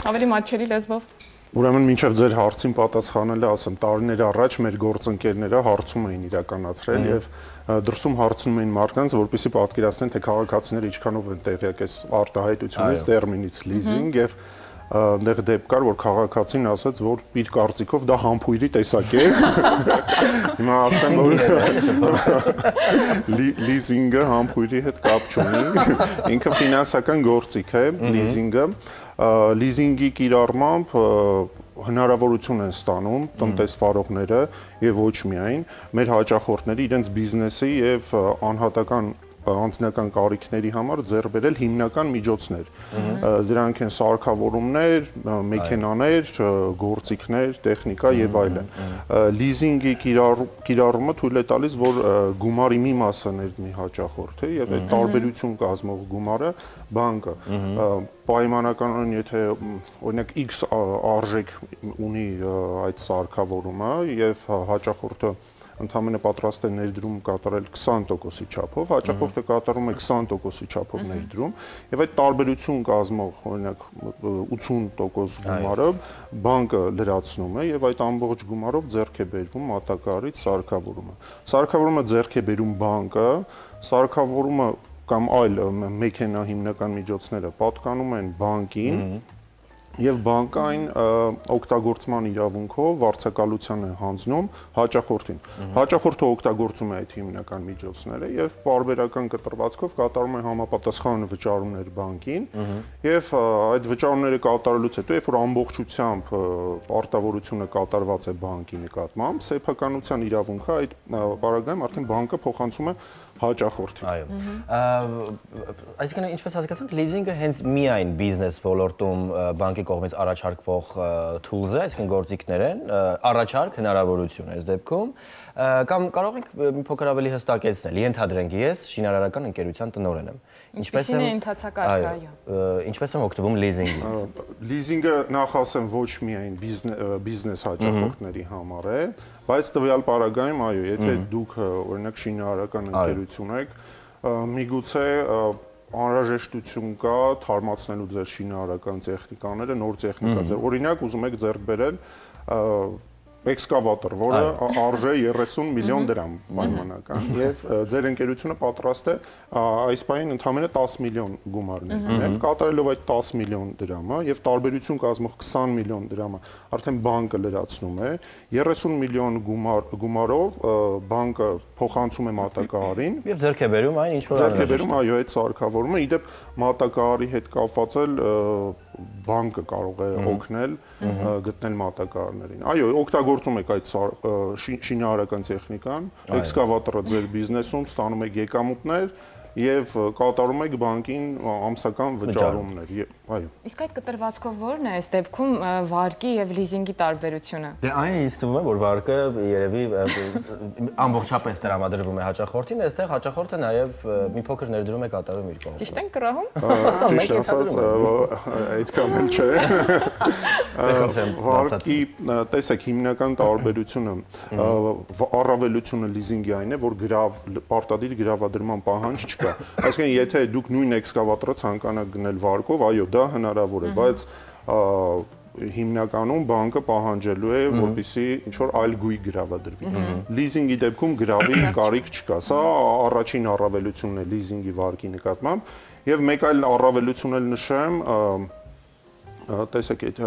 ավելի մատչելի լեզվով։ Ուրեմն մինչև ձեր հարցին պատասխանելը, ասեմ, տարիներ առաջ մեր գործընկերները հարցում էին իրականացրել եւ դրսում հարցնում էին մարդկանց, որպեսզի պատկերացնեն, թե քաղաքացիները ինչքանով են տեղյակ այս արտահայտությունից, տերմինից լիզինգ եւ այնտեղ դեպք կար, որ քաղաքացին ասաց, որ իր կարծիքով դա համբույրի տեսակ է։ Հիմա ասեմ, որ լիզինգը համբույրի հետ կապ չունի, ինքը ֆինանսական գործիք է, լիզինգը։ Լիզինգի կիրառմամբ հնարավորություն են ստանում տնտեսվարողները եւ ոչ միայն մեր հաճախորդները իրենց բիզնեսի եւ անհատական անձնական կարիքների համար ձեռք բերել հիմնական միջոցներ։ Դրանք են սարքավորումներ, մեքենաներ, գործիքներ, տեխնիկա եւ այլն։ Լիզինգի կիրառումը թույլ է տալիս, որ գումարի մի մասը ներդնի հաճախորդը եւ այդ տարբերություն կազմող գումարը բանկը պայմանականորեն, եթե օրինակ X արժեք ունի այդ սարքավորումը եւ հաճախորդը ընդհանրապես պատրաստ է ներդրում կատարել 20%-ի չափով, հաճախորդը կատարում է 20%-ի չափով ներդրում, եւ այդ տարբերություն կազմող, օրինակ 80% գումարը բանկը լրացնում է եւ այդ ամբողջ գումարով ձեռք է բերվում մատակարարից սարքավորումը։ Սարքավորումը ձեռք է բերում բանկը, սարքավորումը կամ այլ մեքենա հիմնական միջոցները պատկանում են բանկին եւ բանկային օգտագործման իրավունքով վարձակալության է հանձնում հաճախորդին։ Հաճախորդը օգտագործում է այդ հիմնական միջոցները եւ պարբերական կտրվածքով կատարում է համապատասխան վճարումներ բանկին եւ այդ վճարումները կատարելուց հետո, երբ որ ամբողջությամբ արտավորությունը կատարված է բանկի նկատմամբ, սեփականության իրավունքը այդ պարագայում արդեն բանկը փոխանցում է հաճախորդին։ Այո։ Այսինքն ինչպես հասկացանք, լիզինգը հենց միայն բիզնես ոլորտում բանկի կողմից առաջարկվող tools է, այսինքն գործիքներ են, առաջարկ հնարավորություն է այս դեպքում, կամ կարող ենք մի փոքր ավելի հստակեցնել, ենթադրենք ես շինարարական ընկերության տնօրեն եմ։ Ինչպես է ընթացակարգը, այո։ Ինչպես եմ օգտվում լիզինգից։ Լիզինգը նախ ասեմ ոչ միայն բիզնես հաճախորդների համար է, բայց տվյալ պարագայում այո, եթե դուք օրինակ շինարարական ընկերություն եք, միգուցե անհրաժեշտություն կա թարմացնելու ձեր շինարարական տեխնիկաները, նոր տեխնիկա ձեր։ Օրինակ ուզում եք ձեռք բերել էքսկավատոր, որը արժե 30 միլիոն դրամ պայմանական եւ ձեր ընկերությունը պատրաստ է այս պահին ընդամենը 10 միլիոն գումարներ դնել, կատարելով այդ 10 միլիոն դրամը եւ տարբերություն կազմող 20 միլիոն դրամը արդեն բանկը լրացնում է 30 միլիոն գումարով բանկը փոխանցում է մատակարարին եւ ձեռք է բերում այն ինչ որ ձեռք է բերում այո այդ սարքավորումը իդեպ մատակարարի հետ կապված էլ բանկը կարող է օգնել գտնել մատակարարներին այո օգտագործում եք այդ շինարարական տեխնիկան էքսկավատորը ձեր բիզնեսում ստանում եք եկամուտներ եւ կատարում եք բանկին ամսական վճարումներ այո իսկ այդ կտրվածքով ո՞րն է այս դեպքում վարկի եւ լիզինգի տարբերությունը դե այն ինձ թվում է որ վարկը երևի ամբողջապես տրամադրվում է հաճախորդին այստեղ հաճախորդը նաեւ մի փոքր ներդրում է կատարում իր կողմից ճիշտ են կռահում ճիշտ ասած այդքան էլ չէ վարկի տեսեք հիմնական տարբերությունը առավելությունը լիզինգի այն է որ պարտադիր գրավադրման պահանջ չկա այսինքն եթե դուք նույն էքսկավատորը ցանկանաք գնել վարկով այո դա հնարավոր է բայց հիմնականում բանկը պահանջելու է որպեսզի ինչ որ այլ գույք գրավադրվի լիզինգի դեպքում գրավի կարիք չկա սա առաջին առավելությունն է լիզինգի վարկի նկատմամբ եւ մեկ այլ առավելություն էլ նշեմ տեսեք այդ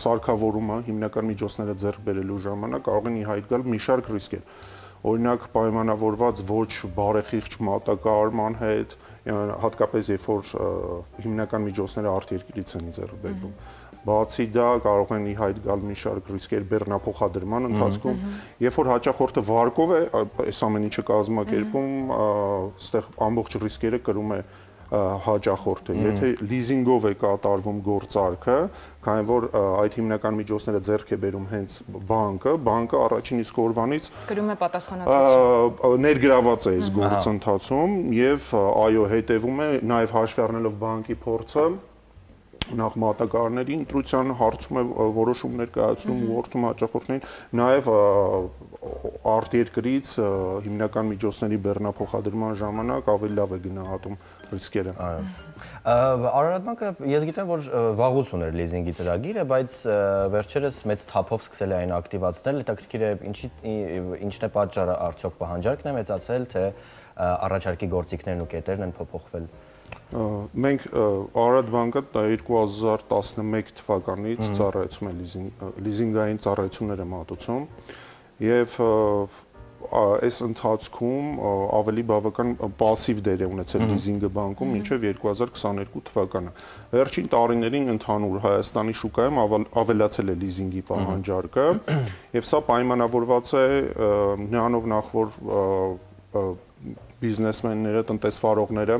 սարքավորումը հիմնական միջոցները ձեռք բերելու ժամանակ կարող են ի հայտ գալ մի շարք ռիսկեր օրինակ պայմանավորված ոչ բարեխիղճ մատակարարման հետ հատկապես երբ որ հիմնական միջոցները արտերկրից են ձեռք բերվում բացի դա կարող են ի հայտ գալ մի շարք ռիսկեր բեռնափոխադրման ընթացքում երբ որ հաճախորդը վարկով է այս ամեն ինչը կազմակերպում այստեղ ամբողջ ռիսկերը կրում է հաճախորդը եթե լիզինգով է կատարվում գործարքը քանի որ այդ հիմնական միջոցները ձեռք է բերում հենց բանկը առաջին իսկ օրվանից կրում է պատասխանատվություն ներգրաված է այս գործընթացում եւ այո հետեւում է նաեւ հաշվի առնելով բանկի փորձը նախ մատակարարների ընտրության հարցում է որոշումներ կայացնում ուղղորդում հաճախորդներին նաև արտերկրից հիմնական միջոցների բեռնափոխադրման ժամանակ ավելի լավ է գնահատում ռիսկերը Արարատ բանկը ես գիտեմ որ վաղուց ուներ լիզինգի ծրագիրը բայց վերջերս մեծ թափով սկսել է այն ակտիվացնել հետաքրքիր է ինչն է պատճառը արդյոք պահանջարկն է մեծացել թե առաջարկի գործիքներն ու կետերն են փոփոխվել Մենք Արարատ բանկը 2011 թվականից ծառայեցում է լիզինգային ծառայություններ է մատուցում եւ այս ընթացքում ավելի բավական пассив դեր է ունեցել լիզինգը բանկում մինչև 2022 թվականը։ Վերջին տարիներին ընդհանուր Հայաստանի շուկայում ավելացել է լիզինգի պահանջարկը եւ սա պայմանավորված է նրանով նախ որ բիզնեսմենները, տնտեսվարողները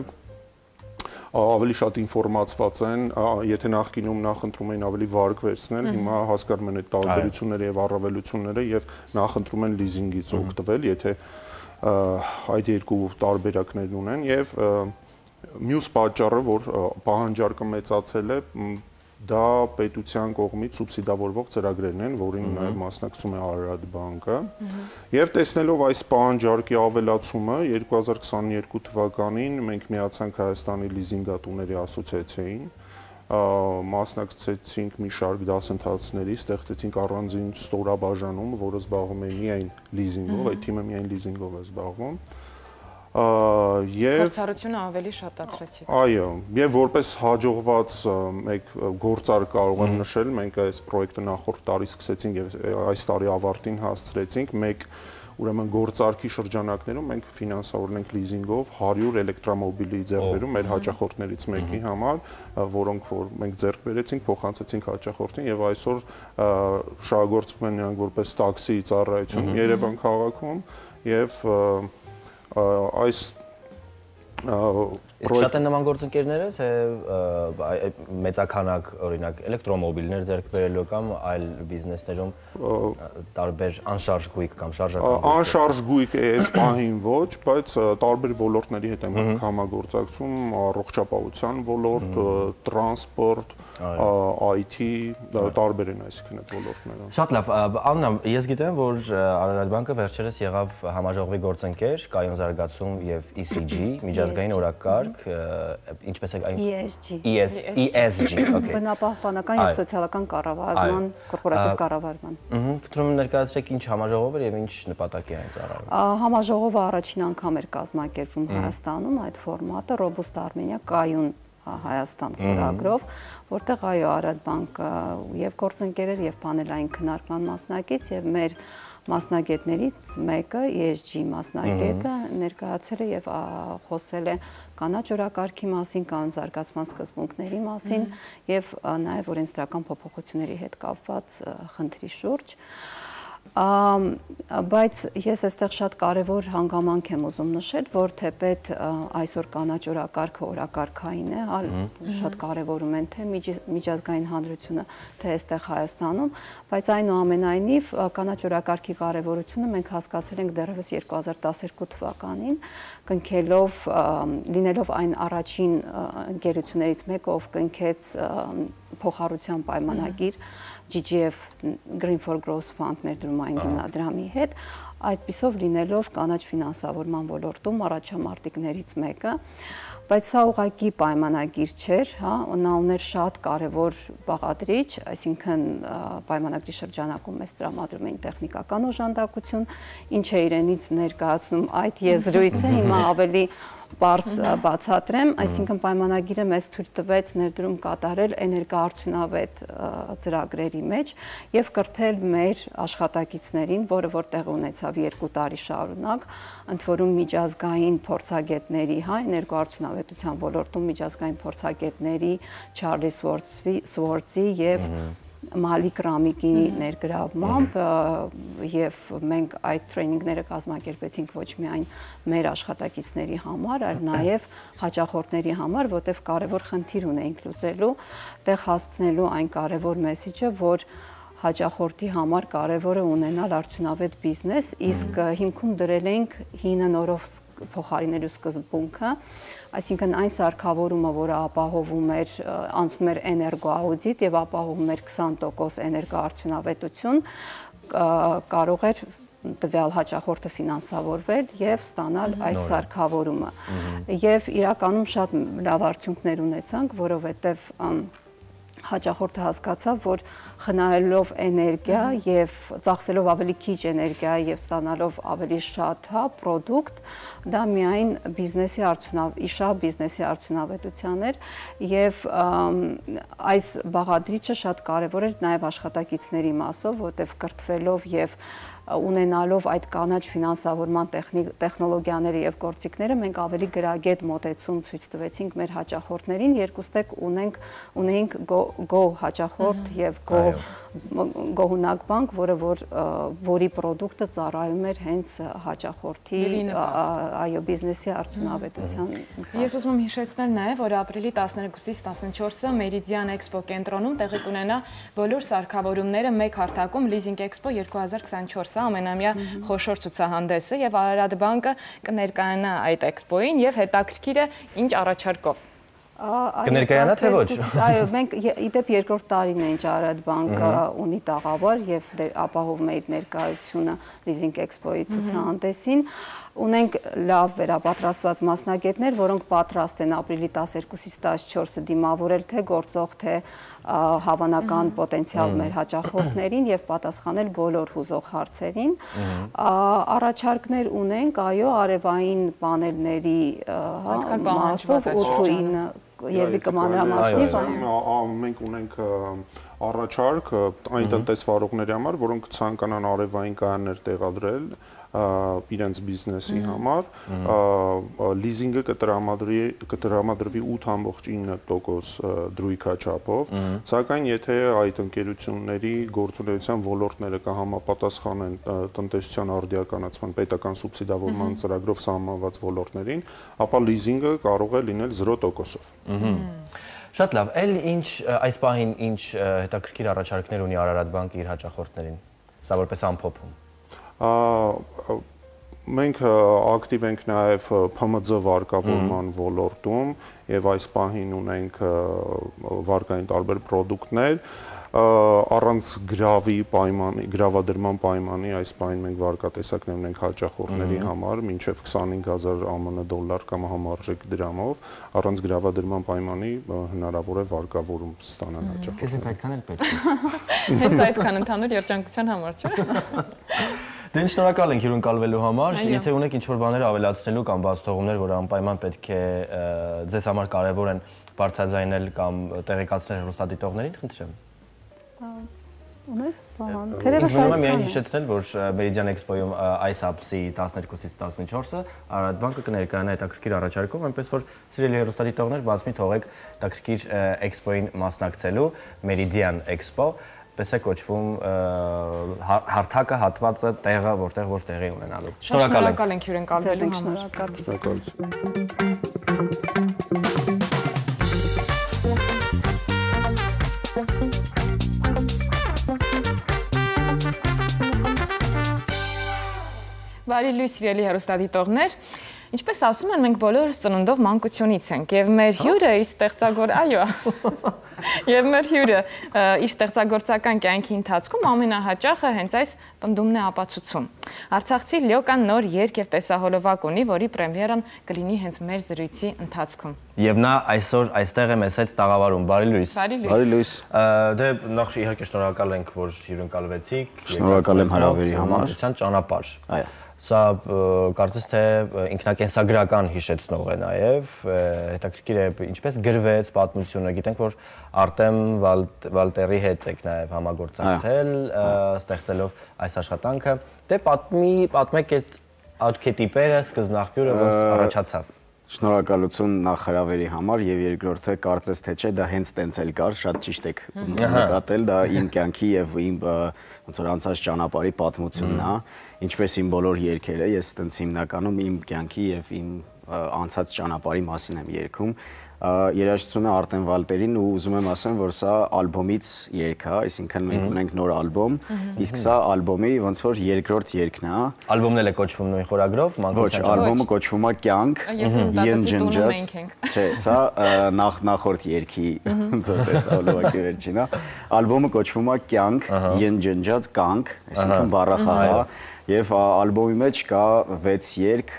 ավելի շատ ինֆորմացված են, եթե նախկինում նախընտրում էին ավելի վարկ վերցնել, հիմա հասկանում են այդ տարբերությունները եւ առավելությունները եւ նախընտրում են լիզինգից օգտվել, եթե այդ երկու տարբերակներն ունեն եւ մյուս պատճառը, որ պահանջարկը մեծացել է, դա պետության կողմից սուբսիդավորվող ծրագրերն են, որին նաև մասնակցում է Արարատ բանկը։ Եվ տեսնելով այս պահանջարկի ավելացումը 2022 թվականին մենք միացանք Հայաստանի լիզինգատուների ասոցիացիային, մասնակցեցինք մի շարք դասընթացների, ստեղծեցինք առանձին ստորաբաժանում, որը զբաղվում է միայն լիզինգով, այդ թիմը միայն լիզինգով է զբաղվում։ եւ Փորձառությունը ավելի շատացրեցիք։ Այո, եւ որպես հաջողված մեկ գործար կարող եմ նշել, մենք այս պրոյեկտը նախորդ տարի սկսեցինք եւ այս տարի ավարտին հասցրեցինք, մեկ ուրեմն գործարքի շրջանակներում մենք ֆինանսավորել ենք լիզինգով 100 էլեկտրոմոբիլի ձեռքբերում մեր հաճախորդներից մեկի համար, որոնք որ մենք ձեռք բերեցինք, փոխանցեցինք հաճախորդին եւ այսօր շահագործվում են նրանք որպես տաքսի ծառայություն Երևան քաղաքում եւ այս Շատ են նման գործընկերները, թե մեծաքանակ օրինակ էլեկտրոմոբիլներ ձեռք բերելու կամ այլ բիզնեսներում տարբեր անշարժ գույք կամ շարժական գույք։ Անշարժ գույք այս պահին ոչ, բայց տարբեր ոլորտների հետ ենք համագործակցում, առողջապահության ոլորտ, տրանսպորտ, IT, տարբեր են այսինքն այդ ոլորտները։ Շատ լավ, Աննա, ես գիտեմ, որ Արարատ բանկը վերջերս եղավ համաժողովի գործընկեր, կայուն զարգացում եւ ECG, միջազգային օրակարգ, ինչպես է այն ESG, okay։ Բնապահպանական եւ սոցիալական կառավարման, կորպորատիվ կառավարման։ Կտրում ներկայացրեք ինչ համաժողով էր եւ ինչ նպատակի այն ծառայում։ Համաժողովը առաջին անգամ էր կազմակերպվում Հայաստանում, այդ ֆորմատը Robust Armenia կայուն Հայաստան ծրագրով, որտեղ այո Արարատ բանկը եւ գործընկերներ եւ պանելային քննարկման մասնակից եւ մեր մասնագետներից մեկը ESG մասնագետը ներկայացել է եւ խոսել է կանաչ օրակարգի մասին, կանոն զարգացման սկզբունքների մասին եւ նաեւ օրենսդրական փոփոխությունների հետ կապված խնդրի շուրջ։ Բայց ես այստեղ շատ կարևոր հանգամանք եմ ուզում նշել, որ թեպետ այսօր կանաչ օրակարգը օրակարգային է, շատ կարևորում են թե միջազգային հանրությունը, թե այստեղ Հայաստանում, բայց այնուամենայնիվ կանաչ օրակարգի կարևորությունը մենք հասկացել ենք դեռևս 2012 թվականին, կնքելով, լինելով այն առաջին ընկերություններից մեկը, ով կնքեց փոխառության պայմանագիր GGF Green for Growth Fund ներդրումային հիմնադրամի հետ, այդպիսով լինելով կանաչ ֆինանսավորման ոլորտում առաջամարտիկներից մեկը, բայց սա ուղղակի պայմանագիր չէր, նա ուներ շատ կարևոր բաղադրիչ, այսինքն պայմանագրի շրջանակում մեզ տրամադրում էին տեխնիկական օժանդակություն, ինչը իրենից ներկայացնում այդ եզրույթը, հիմա ավելի պարզ բացատրեմ, այսինքն պայմանագիրը մեզ թույլ տվեց ներդրում կատարել էներգոարդյունավետ ծրագրերի մեջ եւ կրթել մեր աշխատակիցներին, որը որ տեղի ունեցավ 2 տարի շարունակ, ընդ որում միջազգային փորձագետների, էներգոարդյունավետության ոլորտում միջազգային փորձագետների Չարլի Սվորցի եւ Մալի Կրամիկի ներգրավմամբ եւ մենք այդ տրեյնինգները կազմակերպեցինք ոչ միայն մեր աշխատակիցների համար, այլ նաեւ հաճախորդների համար, որտեղ կարևոր խնդիր ունեինք լուծելու, տեղ հասցնելու այն կարևոր մեսիջը, որ հաճախորդի համար կարևոր է ունենալ արդյունավետ բիզնես, իսկ հիմքում դրել ենք հինը նորով փոխարինելու սկզբունքը, այսինքն այն սարքավորումը, որը ապահովում էր, անցնում էր էներգոաուդիտ եւ ապահովում էր 20% էներգոարդյունավետություն, կարող էր տվյալ հաճախորդը ֆինանսավորվել եւ ստանալ այդ սարքավորումը։ Եվ իրականում շատ լավ արդյունքներ ունեցանք, որովհետեւ հաճախորդը հասկացավ, որ խնայելով էներգիա եւ ծախսելով ավելի քիչ էներգիա եւ ստանալով ավելի շատ պրոդուկտ, դա միայն բիզնեսի արդյունավետության էր եւ այս բաղադրիչը շատ կարեւոր էր նաեւ աշխատակիցների մասով, որտեղ կրթվելով եւ ունենալով այդ կանաչ ֆինանսավորման տեխնոլոգիաները եւ գործիքները մենք ավելի գրագետ մոտեցում ցույց տվեցինք մեր հաճախորդներին, երկուստեք ունեինք Go հաճախորդ եւ Go-հունակ բանկ, որի պրոդուկտը ծառայում էր հենց հաճախորդի այո բիզնեսի արդյունավետության։ Ես ուզում եմ հիշեցնել նաեւ, որ ապրիլի 12-ից 14-ը Meridian Expo կենտրոնում տեղի կունենա բոլոր սարքավորումները մեկ հարթակում Leasing Expo 2024 ամենամյա խոշոր ցուցահանդեսը եւ Արարատ բանկը կներկայանա այդ էքսպոին եւ հետաքրքիրը ինչ առաջարկով։ Կներկայանա թե ոչ։ Այո, մենք իդեպ երկրորդ տարին է ինչ Արարատ բանկը ունի տաղավար եւ ապահովում է իր ներկայությունը Leasing Expo-ի ցուցահանդեսին։ ունենք լավ վերապատրաստված մասնագետներ, որոնք պատրաստ են ապրիլի 12-ից 14-ը դիմավորել թե գործող, թե հավանական պոտենցիալ մեր հաճախորդներին եւ պատասխանել բոլոր հուզող հարցերին։ Առաջարկներ ունենք, այո, արևային պանելների մասով 8-9 Երևի կմանրամասնի մենք ունենք առաջարկ այն տնտեսվարողների համար, որոնք ցանկանան արևային կայաններ տեղադրել իրենց բիզնեսի համար, լիզինգը կտրամադրվի 8.9% դրույքաչափով, սակայն եթե այդ ընկերությունների գործունեության ոլորտները կհամապատասխանեն տնտեսության արդիականացման պետական սուբսիդավորման ծրագրով սահմանված ոլորտներին, ապա լիզինգը կարող է լինել 0%-ով։ Շատ լավ, էլ ինչ այս պահին ինչ հետաքրքիր առաջարկներ ունի Արարատ բանկը իր հաճախորդներին, սա որպես ամփոփում։ Մենք ակտիվ ենք նաև ՓՄԾ վարկավորման ոլորտում եւ այս պահին ունենք վարկային տարբեր պրոդուկտներ առանց գրավի պայմանի, գրավադրման պայմանի այս պահին մենք վարկատեսակներ ունենք հաճախորդների համար մինչև 25000 ԱՄՆ դոլար կամ համարժեք դրամով առանց գրավադրման պայմանի հնարավոր է վարկավորում ստանալ հաճախորդները։ Քեզ հենց այդքան էլ պետք է։ Հենց այդքան ընդհանուր երջանկության համար, չէ՞։ Դե շնորհակալ ենք հյուրընկալվելու համար։ Եթե ունեք ինչ-որ բաներ ավելացնելու կամ բացթողումներ, որ անպայման պետք է ձեզ համար կարևոր են բարձրաձայնել կամ տեղեկացնել հեռուստադիտողներին, խնդրեմ։ Ունես բան։ Թերևս այսքան է։ Միայն հիշեցնել, որ Meridian Expo-ում այս ամսի 12-ից 14-ը Արարատ բանկը կներկայանա հետաքրքիր առաջարկով, այնպես որ սիրելի հեռուստադիտողներ, բաց մի թողեք հետաքրքիր Expo-ին մասնակցելու Meridian Expo, պես է կոչվում հարթակը, հատվածը, տեղը, որտեղ որ տեղի ունենալու։ Շնորհակալ ենք հյուրընկալվելու համար։ Շնորհակալություն։ Բարի լույս սիրելի հեռուստադիտողներ, ինչպես ասում են, մենք բոլորս ծնունդով մանկությունից ենք եւ մեր հյուրը իր ստեղծագործական կյանքի ընթացքում ամենահաճախը հենց այս պնդումն է ապացուցում։ Արցախցի Լյոկան նոր երգ եւ տեսահոլովակ ունի, որի պրեմիերան կլինի հենց մեր զրույցի ընթացքում։ Եվ նա այսօր այստեղ է մեզ հետ տաղավարում։ Բարի լույս։ Բարի լույս։ Դե նախ իհարկե շնորհակալ ենք, որ հյուրընկալվեցիք։ Շնորհակալ եմ հրավերի համար։ Ճանապարհ։ Այո։ Սա կարծես թե ինքնակենսագրական հիշեցնող է նաև, հետաքրքիր է ինչպես գրվեց պատմությունը, գիտենք, որ Արտեմ Վալտերի հետ եք նաև համագործակցել, ստեղծելով այս աշխատանքը, դե պատմեք այդ արքետիպերը, սկզբնաղբյուրը ոնց առաջացավ։ Շնորհակալություն նախ հրավերի համար եւ երկրորդը կարծես թե չէ, դա հենց տենց էլ կար, շատ ճիշտ եք նկատել, դա իմ կյանքի եւ իմ ոնց որ անցած ճանապարհի պատմությունն է, ինչպես իմ բոլոր երգերը, ես տենց հիմնականում իմ կյանքի եւ իմ անցած ճանապարհի մասին եմ երգում։ Երաժշտությունը Արտեմ Վալտերին ու ուզում եմ ասեմ, որ սա ալբոմից երգ է, այսինքն մենք ունենք նոր ալբոմ, իսկ սա ալբոմի ոնց որ երկրորդ երգն է։ Ալբոմն էլ է կոչվում նույն խորագրով, Ոչ, ալբոմը կոչվում է Կյանք, Յնջնջաց։ Չէ, սա նախորդ երգի ոնց որ տեսահոլովակի վերջին է։ Ալբոմը կոչվում է Կյանք, Յնջնջաց կանք, այսինքն բառախաղ է։ Եվ ալբոմի մեջ կա 6 երգ,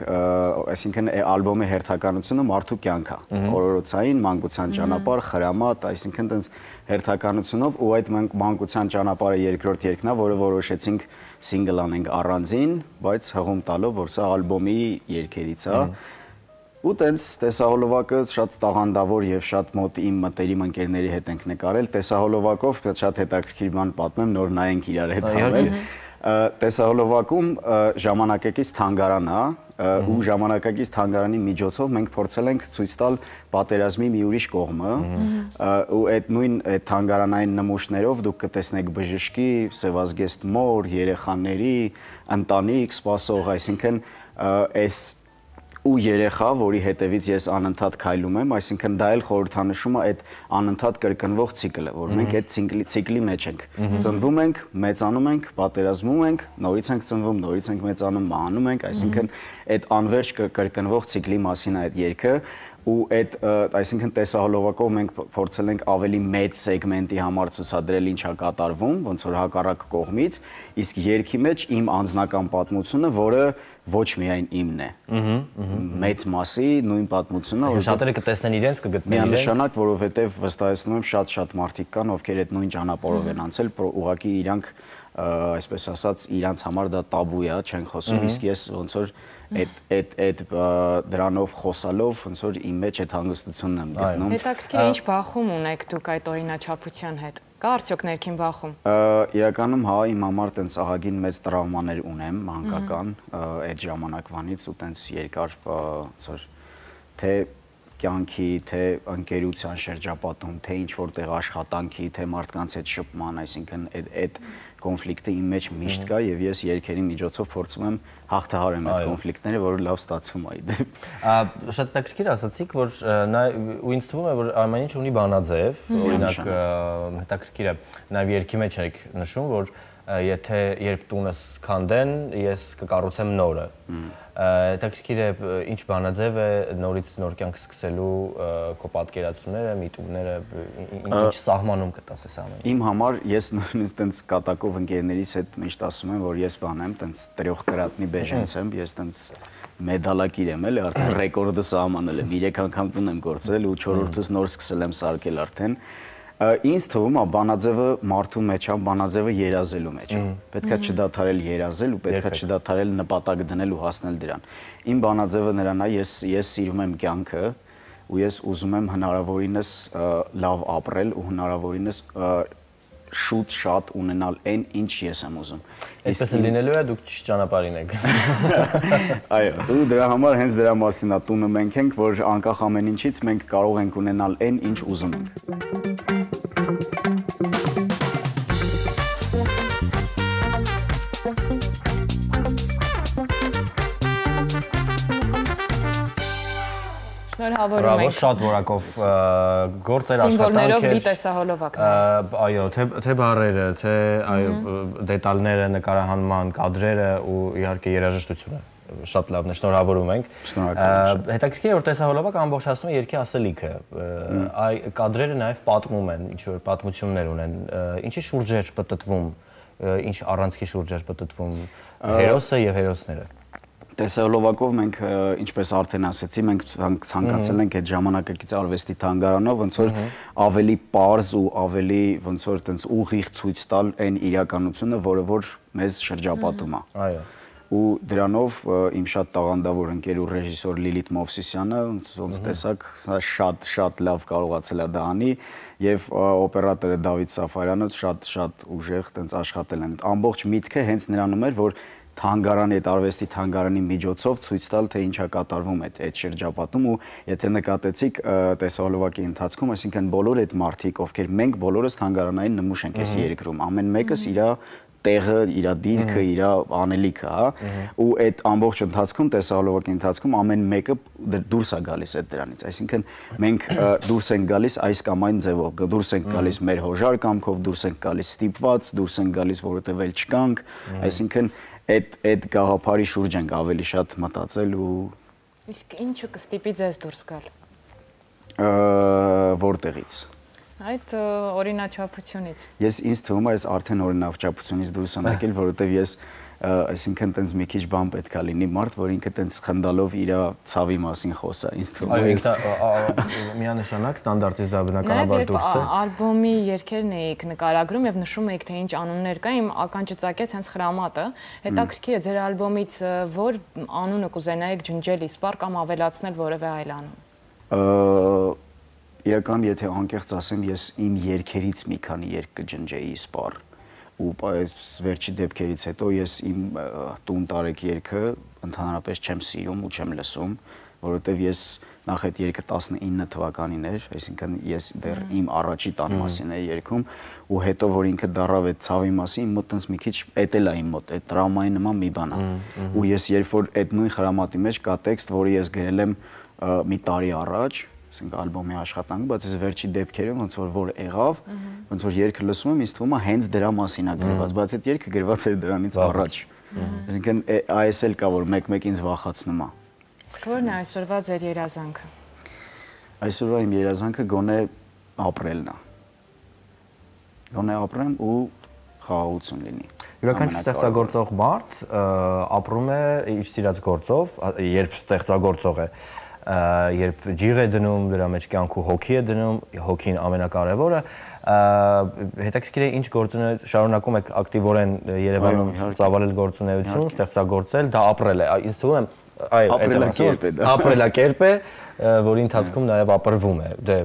այսինքն ալբոմի հերթականությունը մարդու կյանք է։ Օրորոցային, մանկության ճանապարհ, խրամատ, այսինքն տենց հերթականությունով ու այդ մանկության ճանապարհը երկրորդ երգն է, որը որոշեցինք սինգլ անենք առանձին, բայց հղում տալով, որ սա ալբոմի երգերից է։ Ու տենց տեսահոլովակը շատ տաղանդավոր եւ շատ մոտ իմ մտերիմ ընկերների հետ ենք նկարել, տեսահոլովակով շատ հետաքրքիր բան պատմեմ, նոր նայենք իրար հետ հավել։ Տեսահոլովակում ժամանակակից թանգարան է ու ժամանակակից թանգարանի միջոցով մենք փորձել ենք ցույց տալ պատերազմի մի ուրիշ կողմը ու այդ նույն թանգարանային նմուշներով դուք կտեսնեք բժշկի, սևազգեստ մոր, երեխաների, ընտանիք սպասող, այսինքն այս ու երեխա, որի հետևից ես անընդհատ քայլում եմ, այսինքն դա էլ խորհրդանշում է այդ անընդհատ կրկնվող ցիկլը, որ մենք այդ ցիկլի մեջ ենք։ Ծնվում ենք, մեծանում ենք, պատերազմում ենք, նորից ենք ծնվում, նորից ենք մեծանում, մահանում ենք, այսինքն այդ անվերջ կրկնվող ցիկլի մասին է այդ երգը ու այդ այսինքն տեսահոլովակով մենք փորձել ենք ավելի մեծ սեգմենտի համար ցուցադրել ինչա կատարվում, ոնց որ հակառակ կողմից, իսկ երգի մեջ իմ անձնական պատմությունը, որը ոչ միայն իմն է։ Մեծ մասի նույն պատմությունը, որ շատերը կտեսնեն իրենց, կգտնեն իրենց։ Միանշանակ, որովհետև վստահեցնում եմ շատ մարդիկ կան, ովքեր այդ նույն ճանապարհով են անցել, ուղղակի իրանք այսպես ասած իրանց համար դա տաբու է, չեն խոսում, իսկ ես ոնց որ այդ դրանով խոսալով ոնց որ իմ մեջ այդ հանգստությունն եմ գտնում։ Հետաքրքիր է ինչ բախում ունեք դուք այդ օրինաչափության հետ։ Կա արդյոք ներքին բախում։ Իրականում հա, իմ համար տենց ահագին մեծ տրավմաներ ունեմ մանկական այդ ժամանակվանից ու տենց երկար ոնց որ թե կյանքի, թե ընկերության շրջապատում, թե ինչ որտեղ աշխատանքի, թե մարդկանց հետ շփման, այսինքն այդ կոնֆլիկտը իմ մեջ միշտ կա եւ ես երգերի միջոցով փորձում եմ հաղթահարեմ այդ կոնֆլիկտները, որը լավ ստացվում է իդեպ։ Շատ հետաքրքիր ասացիք, որ ու ինձ թվում է, որ ամեն ինչ ունի բանաձև, օրինակ հետաքրքիր է, նաեւ երգի մեջ եք նշում, որ եթե երբ տունս քանդեն, ես կկառուցեմ նորը։ Հետաքրքիր է ինչ բանաձև է նորից նոր կյանք սկսելու քո պատկերացումները, միտումները, ինչ սահմանում կտաս այս ամենը։ Իմ համար ես նույնիսկ տենց կատակով ընկերներիս հետ միշտ ասում եմ, որ ես բան եմ, տենց տրյող կրատնի բեժենց եմ, ես տենց մեդալակիր եմ, էլի արդեն ռեկորդը սահմանել եմ, 3 անգամ տուն եմ գործել ու 4-րդս նոր սկսել եմ սարքել արդեն։ Ինձ թվում է բանաձևը մարդու մեջ է, բանաձևը երազելու մեջ է։ Պետքա չդադարել երազել ու պետքա չդադարել նպատակ դնել ու հասնել դրան։ Իմ բանաձևը նրան է, ես սիրում եմ կյանքը ու ես ուզում եմ հնարավորինս լավ ապրել ու հնարավորինս շուտ շատ ունենալ այն, ինչ ես եմ ուզում։ Այսպես լինելու է դուք ճանապարհին եք։ Այո, ու դրա համար հենց դրա մասին է տունը մենք ենք, որ անկախ ամեն ինչից մենք կարող ենք ունենալ այն, ինչ ուզում ենք։ Շնորհավորում ենք։ Շատ որակով գործեր սիմվոլներով լի տեսահոլովակ։ Այո, թե բառերը, թե այո դետալները, նկարահանման կադրերը ու իհարկե երաժշտությունը շատ լավն է, շնորհավորում ենք։ Հետաքրքիր է, որ տեսահոլովակը ամբողջացնում է երգի ասելիքը։ Այ կադրերը նաև պատմում են, ինչ որ պատմություններ ունեն։ Ինչի շուրջ է պտտվում, ինչ առանցքի շուրջ է պտտվում հերոսը եւ հերոսները։ Տեսահոլովակով մենք, ինչպես արդեն ասացի, մենք ցանկացել ենք այդ ժամանակակից արվեստի թանգարանով ոնց որ ավելի պարզ ու ավելի ոնց որ տենց ուղիղ ցույց տալ այն իրականությունը, որը որ մեզ շրջապատում է։ Այո։ Ու դրանով իմ շատ տաղանդավոր ընկեր ու ռեժիսոր Լիլիթ Մովսիսյանը ոնց տեսակ շատ լավ կարողացել է դա անի եւ օպերատորը Դավիթ Սաֆարյանը շատ ուժեղ տենց աշխատել են։ Ամբողջ միտքը հենց նրանում էր, որ թանգարանի այդ արվեստի թանգարանի միջոցով ցույց տալ թե ինչա կատարվում այդ շրջապատում ու եթե նկատեցիք տեսահոլովակի ընթացքում, այսինքն բոլոր այդ մարդիկ, ովքեր մենք բոլորս թանգարանային նմուշ ենք այս երկրում, ամեն մեկս իր տեղը, իր դիրքը, իր անելիքը, հա, ու այդ ամբողջ ընթացքում տեսահոլովակի ընթացքում ամեն մեկը դուրս է գալիս այդ դրանից, այսինքն մենք դուրս ենք գալիս այս կամ այն ձևով, դուրս ենք գալիս մեր հոժար կամքով, դուրս ենք գալիս ստիպված, դուրս ենք գալիս որովհետև էլ չկանք, այսինքն այդ գաղափարի շուրջ ենք ավելի շատ մտածել ու Իսկ ինչը կստիպի ձեզ դուրս գալ։ Որտեղից։ Այդ օրինաչափությունից։ Ես ինձ թվում է ես արդեն օրինաչափությունից դուրս եմ եկել, որովհետև ես այսինքն տենց մի քիչ բան պետքա լինի մարդ, որ ինքը տենց խնդալով իր ցավի մասին խոսա, ինձ թվում է։ Միանշանակ ստանդարտից դա բնականաբար դուրս է։ Ալբոմի երգերն էիք նկարագրում եւ նշում էիք թե ինչ անուններ կա, իմ ականջը ծակեց հենց Խրամատը։ Հետաքրքիր է ձեր ալբոմից որ անունը կուզենայիք ջնջել իսպար կամ ավելացնել որևէ այլ անուն։ Իրական եթե անկեղծ ասեմ, ես իմ երգերից մի քանի երգ կջնջեի իսպար ու վերջի դեպքերից հետո ես իմ տուն տարեք երգը ընդհանրապես չեմ սիրում ու չեմ լսում, որովհետև ես նախ այդ երգը 19 թվականին էր, այսինքն ես դեռ իմ առաջի տան մասին էի երգում ու հետո որ ինքը դառավ այդ ցավի մասին, իմ մոտ տենց մի քիչ էտել է իմ մոտ, այդ տրավմայի նման մի բան է։ Ու ես երբ որ այդ նույն Խրամատի մեջ կա տեքստ, որը ես գրել եմ մի տարի առաջ, ասենք ալբոմի աշխատանք, բայց այս վերջի դեպքերում ոնց որ եղավ, ոնց որ երգը լսում եմ, ինձ թվում է հենց դրա մասին է գրված, բայց այդ երգը գրված էր դրանից առաջ։ Այսինքն այս էլ կա որ մեկ-մեկ ինձ վախացնում է։ Իսկ ո՞րն է այսօրվա ձեր երազանքը։ Այսօրվա իմ երազանքը գոնե ապրելն է։ Գոնե ապրեմ ու խաղաղություն լինի։ Յուրաքանչյուր ստեղծագործող մարդ ապրում է իր սիրած գործով, երբ ստեղծագործող է, երբ ջիղ է դնում, դրա մեջ կյանք ու հոգի է դնում, հոգին ամենակարևորը, հետաքրքիր է ինչ գործունեություն շարունակում եք ակտիվորեն Երևանում ծավալել գործունեություն, ստեղծագործել, դա ապրել է, ինձ թվում է ապրելակերպ է, որի ընթացքում նաև ապրվում է, դե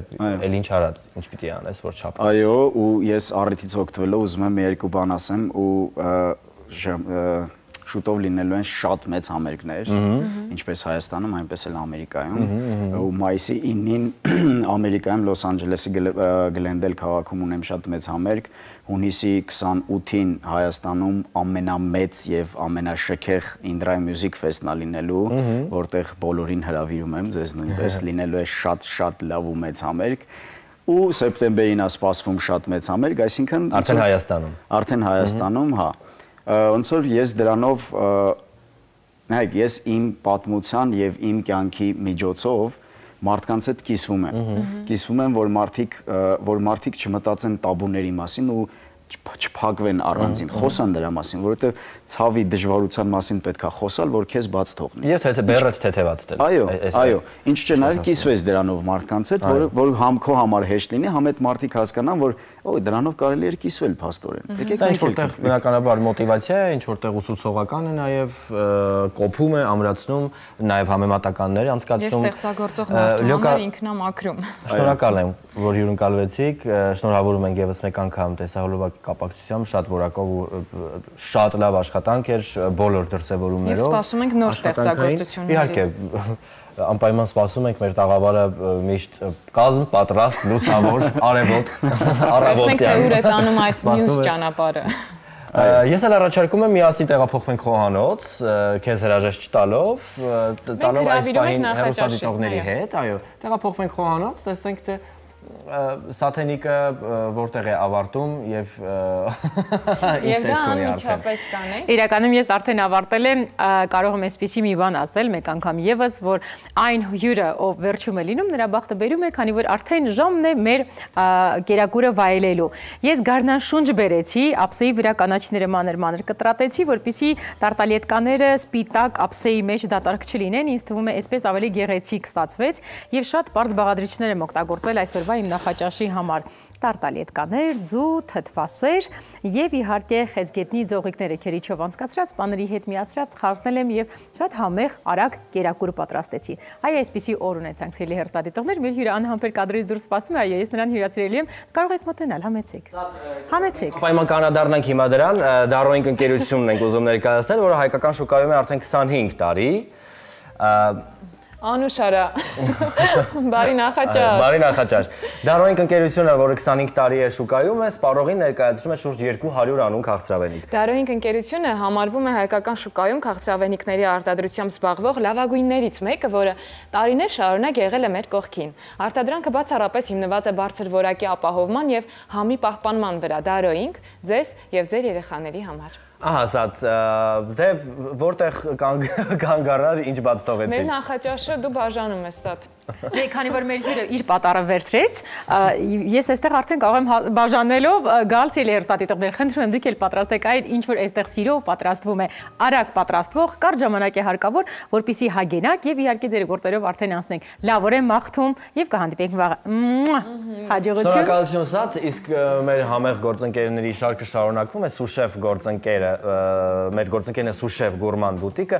էլ ինչ արած, ինչ պիտի անես, որ չապրես։ Այո, ու ես առիթից օգտվելով ուզում եմ երկու բան ասեմ ու շուտով լինելու են շատ մեծ համերգներ, ինչպես Հայաստանում, այնպես էլ Ամերիկայում, ու մայիսի 9-ին Ամերիկայում Լոս Անջելեսի Գլենդել քաղաքում ունեմ շատ մեծ համերգ, հունիսի 28-ին Հայաստանում ամենամեծ եւ ամենաշքեղ Indra Music Festival լինելու, որտեղ բոլորին հրավիրում եմ, ձեզ նույնպես լինելու է շատ լավ ու մեծ համերգ, ու սեպտեմբերին է սպասվում շատ մեծ համերգ, այսինքն արդեն Հայաստանում, հա։ Ոնց որ ես դրանով նայեք, ես իմ պատմության եւ իմ կյանքի միջոցով մարդկանց հետ կիսվում եմ, որ մարդիկ չմտածեն տաբուների մասին ու չփակվեն առանձին, խոսան դրա մասին, որովհետեւ ցավի դժվարության մասին պետքա խոսալ, որ քեզ բաց թողնի։ Եվ բեռդ թեթևած դել։ Այո, ինչ չէ, նաեւ կիսվես դրանով մարդկանց հետ, որ համ քո համար հեշտ լինի, համ այդ մարդիկ հասկանան, որ դրանով կարելի է կիսվել փաստորեն։ Սա ինչ որտեղ բնականաբար մոտիվացիա է, ինչ որտեղ ուսուցողական է նաև կոփում է, ամրացնում, նաև համեմատականներ անցկացնում։ Եվ ստեղծագործող մարդու համար ինքնամաքրում։ Շնորհակալ եմ, որ հյուրընկալվեցիք, շնորհավորում ենք եւս մեկ անգամ տեսահոլովակ կապակցությամբ, շատ որակով ու շատ լավ աշխատանք էր բոլոր դրսևորումներով։ Եվ սպասում ենք նոր ստեղծագործությունների։ Իհարկե, անպայման սպասում ենք մեր տաղավարը միշտ կազմ, պատրաստ, լուսավոր, արևոտ, առավոտյան։ Տեսնենք թե ուր է տանում այդ մյուս ճանապարհը։ Ես էլ առաջարկում եմ միասին տեղափոխվենք խոհանոց, քեզ հրաժեշտ չտալով, տալով այս պահին հեռուստադիտողների հետ, այո, տեղափոխվենք խոհանոց, տեսնենք թե Սաթենիկը որտեղ է ավարտում եւ ինչ տեսք ունի արդեն։ Իրականում ես արդեն ավարտել եմ, կարող եմ այսպեսի մի բան ասել մեկ անգամ եւս, որ այն հյուրը, ով վերջում է լինում, նրա բախտը բերում է, քանի որ արդեն ժամն է մեր կերակուրը վայելելու։ Ես գարնանշունչ բերեցի, ափսեի վրա կանաչիները մանր կտրատեցի, որպեսզի տարտալետկաները սպիտակ ափսեի մեջ դատարկ չլինեն, ինձ թվում է այսպես ավելի գեղեցիկ ստացվեց եւ շատ բարձ բաղադրիչներ եմ օգտագործել այսօրվա իմ նախաճաշի համար տարտալետկաներ, ձու, թթվասեր եւ իհարկե խեցգետնի ձողիկները քերիչով անցկացրած, պաների հետ միացրած խառնել եմ եւ շատ համեղ արագ կերակուր պատրաստեցի։ Այ այսպիսի օր ունեցանք ցելի հերթադիտողներ, մեր հյուրը անհամբեր կադրից դուրս սպասում է, այո, ես նրան հյուրացրելի եմ, կարող եք մոտենալ, համեցեք։ Պայման կանադառնանք հիմա դրան, Darrowing ընկերությունն ենք ուզում ներկայացնել, որը հայկական շուկայում է արդեն 25 տարի։ Անուշ արա, բարի նախաճաշ։ Բարի նախաճաշ։ Darrowing ընկերությունը, որը 25 տարի է շուկայում է, սպառողին ներկայացնում է շուրջ 200 անուն քաղցրավենիք։ Darrowing ընկերությունը համարվում է հայկական շուկայում քաղցրավենիքների արտադրությամբ զբաղվող լավագույններից մեկը, որը տարիներ շարունակ եղել է մեր կողքին։ Արտադրանքը բացառապես հիմնված է բարձր որակի ապահովման եւ համի պահպանման վրա։ Darrowing ձեզ եւ ձեր երեխաների համար։ Ահա, սա դե որտեղ կանգ առար, ինչ բաց թողեցի։ Մեր նախաճաշը դու բաժանում ես սա։ Դե քանի որ մեր հյուրը իր պատարը վերցրեց, ես այստեղ արդեն կարող եմ բաժանելով գալ ցելի հերթադիտողներ, խնդրում եմ դուք էլ պատրաստեք այն, ինչ որ այստեղ սիրով պատրաստվում է, արագ պատրաստվող, կարճ ժամանակ է հարկավոր, որպեսզի հագենակ եւ իհարկե ձեր գործերով արդեն անցնենք։ Լավորեն մաղթում եւ կհանդիպենք վաղը։ Հաջողություն։ Շնորհակալություն Սաթ, իսկ մեր համեղ գործընկերների շարքը շարունակվում է, Սուշեֆ գործընկերը, մեր գործընկերն է Սուշեֆ գուրման բուտիկը,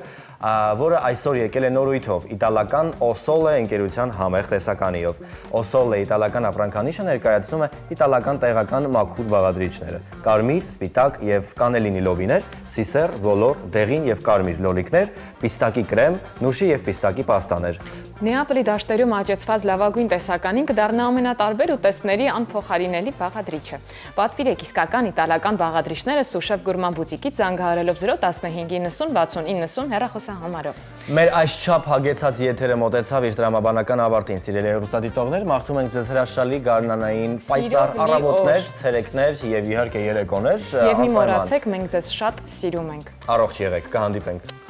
որը այսօր եկել է նորույթով իտալական Osole ընկերության համեղ տեսականիով։ Osole իտալական ապրանքանիշը ներկայացնում է իտալական տեղական մաքուր բաղադրիչները՝ կարմիր, սպիտակ եւ կանելինի լոբիներ, սիսեր, ոլոր, դեղին եւ կարմիր լոլիկներ, պիստակի կրեմ, նուշի եւ պիստակի պաստաներ։ Նեապոլի դաշտերում աճեցված լավագույն տեսականին կդառնա ամենատարբեր ուտեստների անփոխարինելի բաղադրիչը։ Պատվիրեք իսկական իտալական բաղադրիչները Սուշեֆ գուրման բուտիկից զանգահարելով 015906090 հեռախոսահամարով։ Մեր այսչափ հագեցած եթերը մոտեցավ իր տրամաբանական ավարտին, սիրելի հեռուստադիտողներ, մաղթում ենք ձեզ հրաշալի գարնանային պայծառ առավոտներ, ցերեկներ եւ իհարկե երեկոներ։ Եվ մի մոռացեք, մենք ձեզ շատ սիրում ենք։ Առողջ եղեք, կհանդիպենք։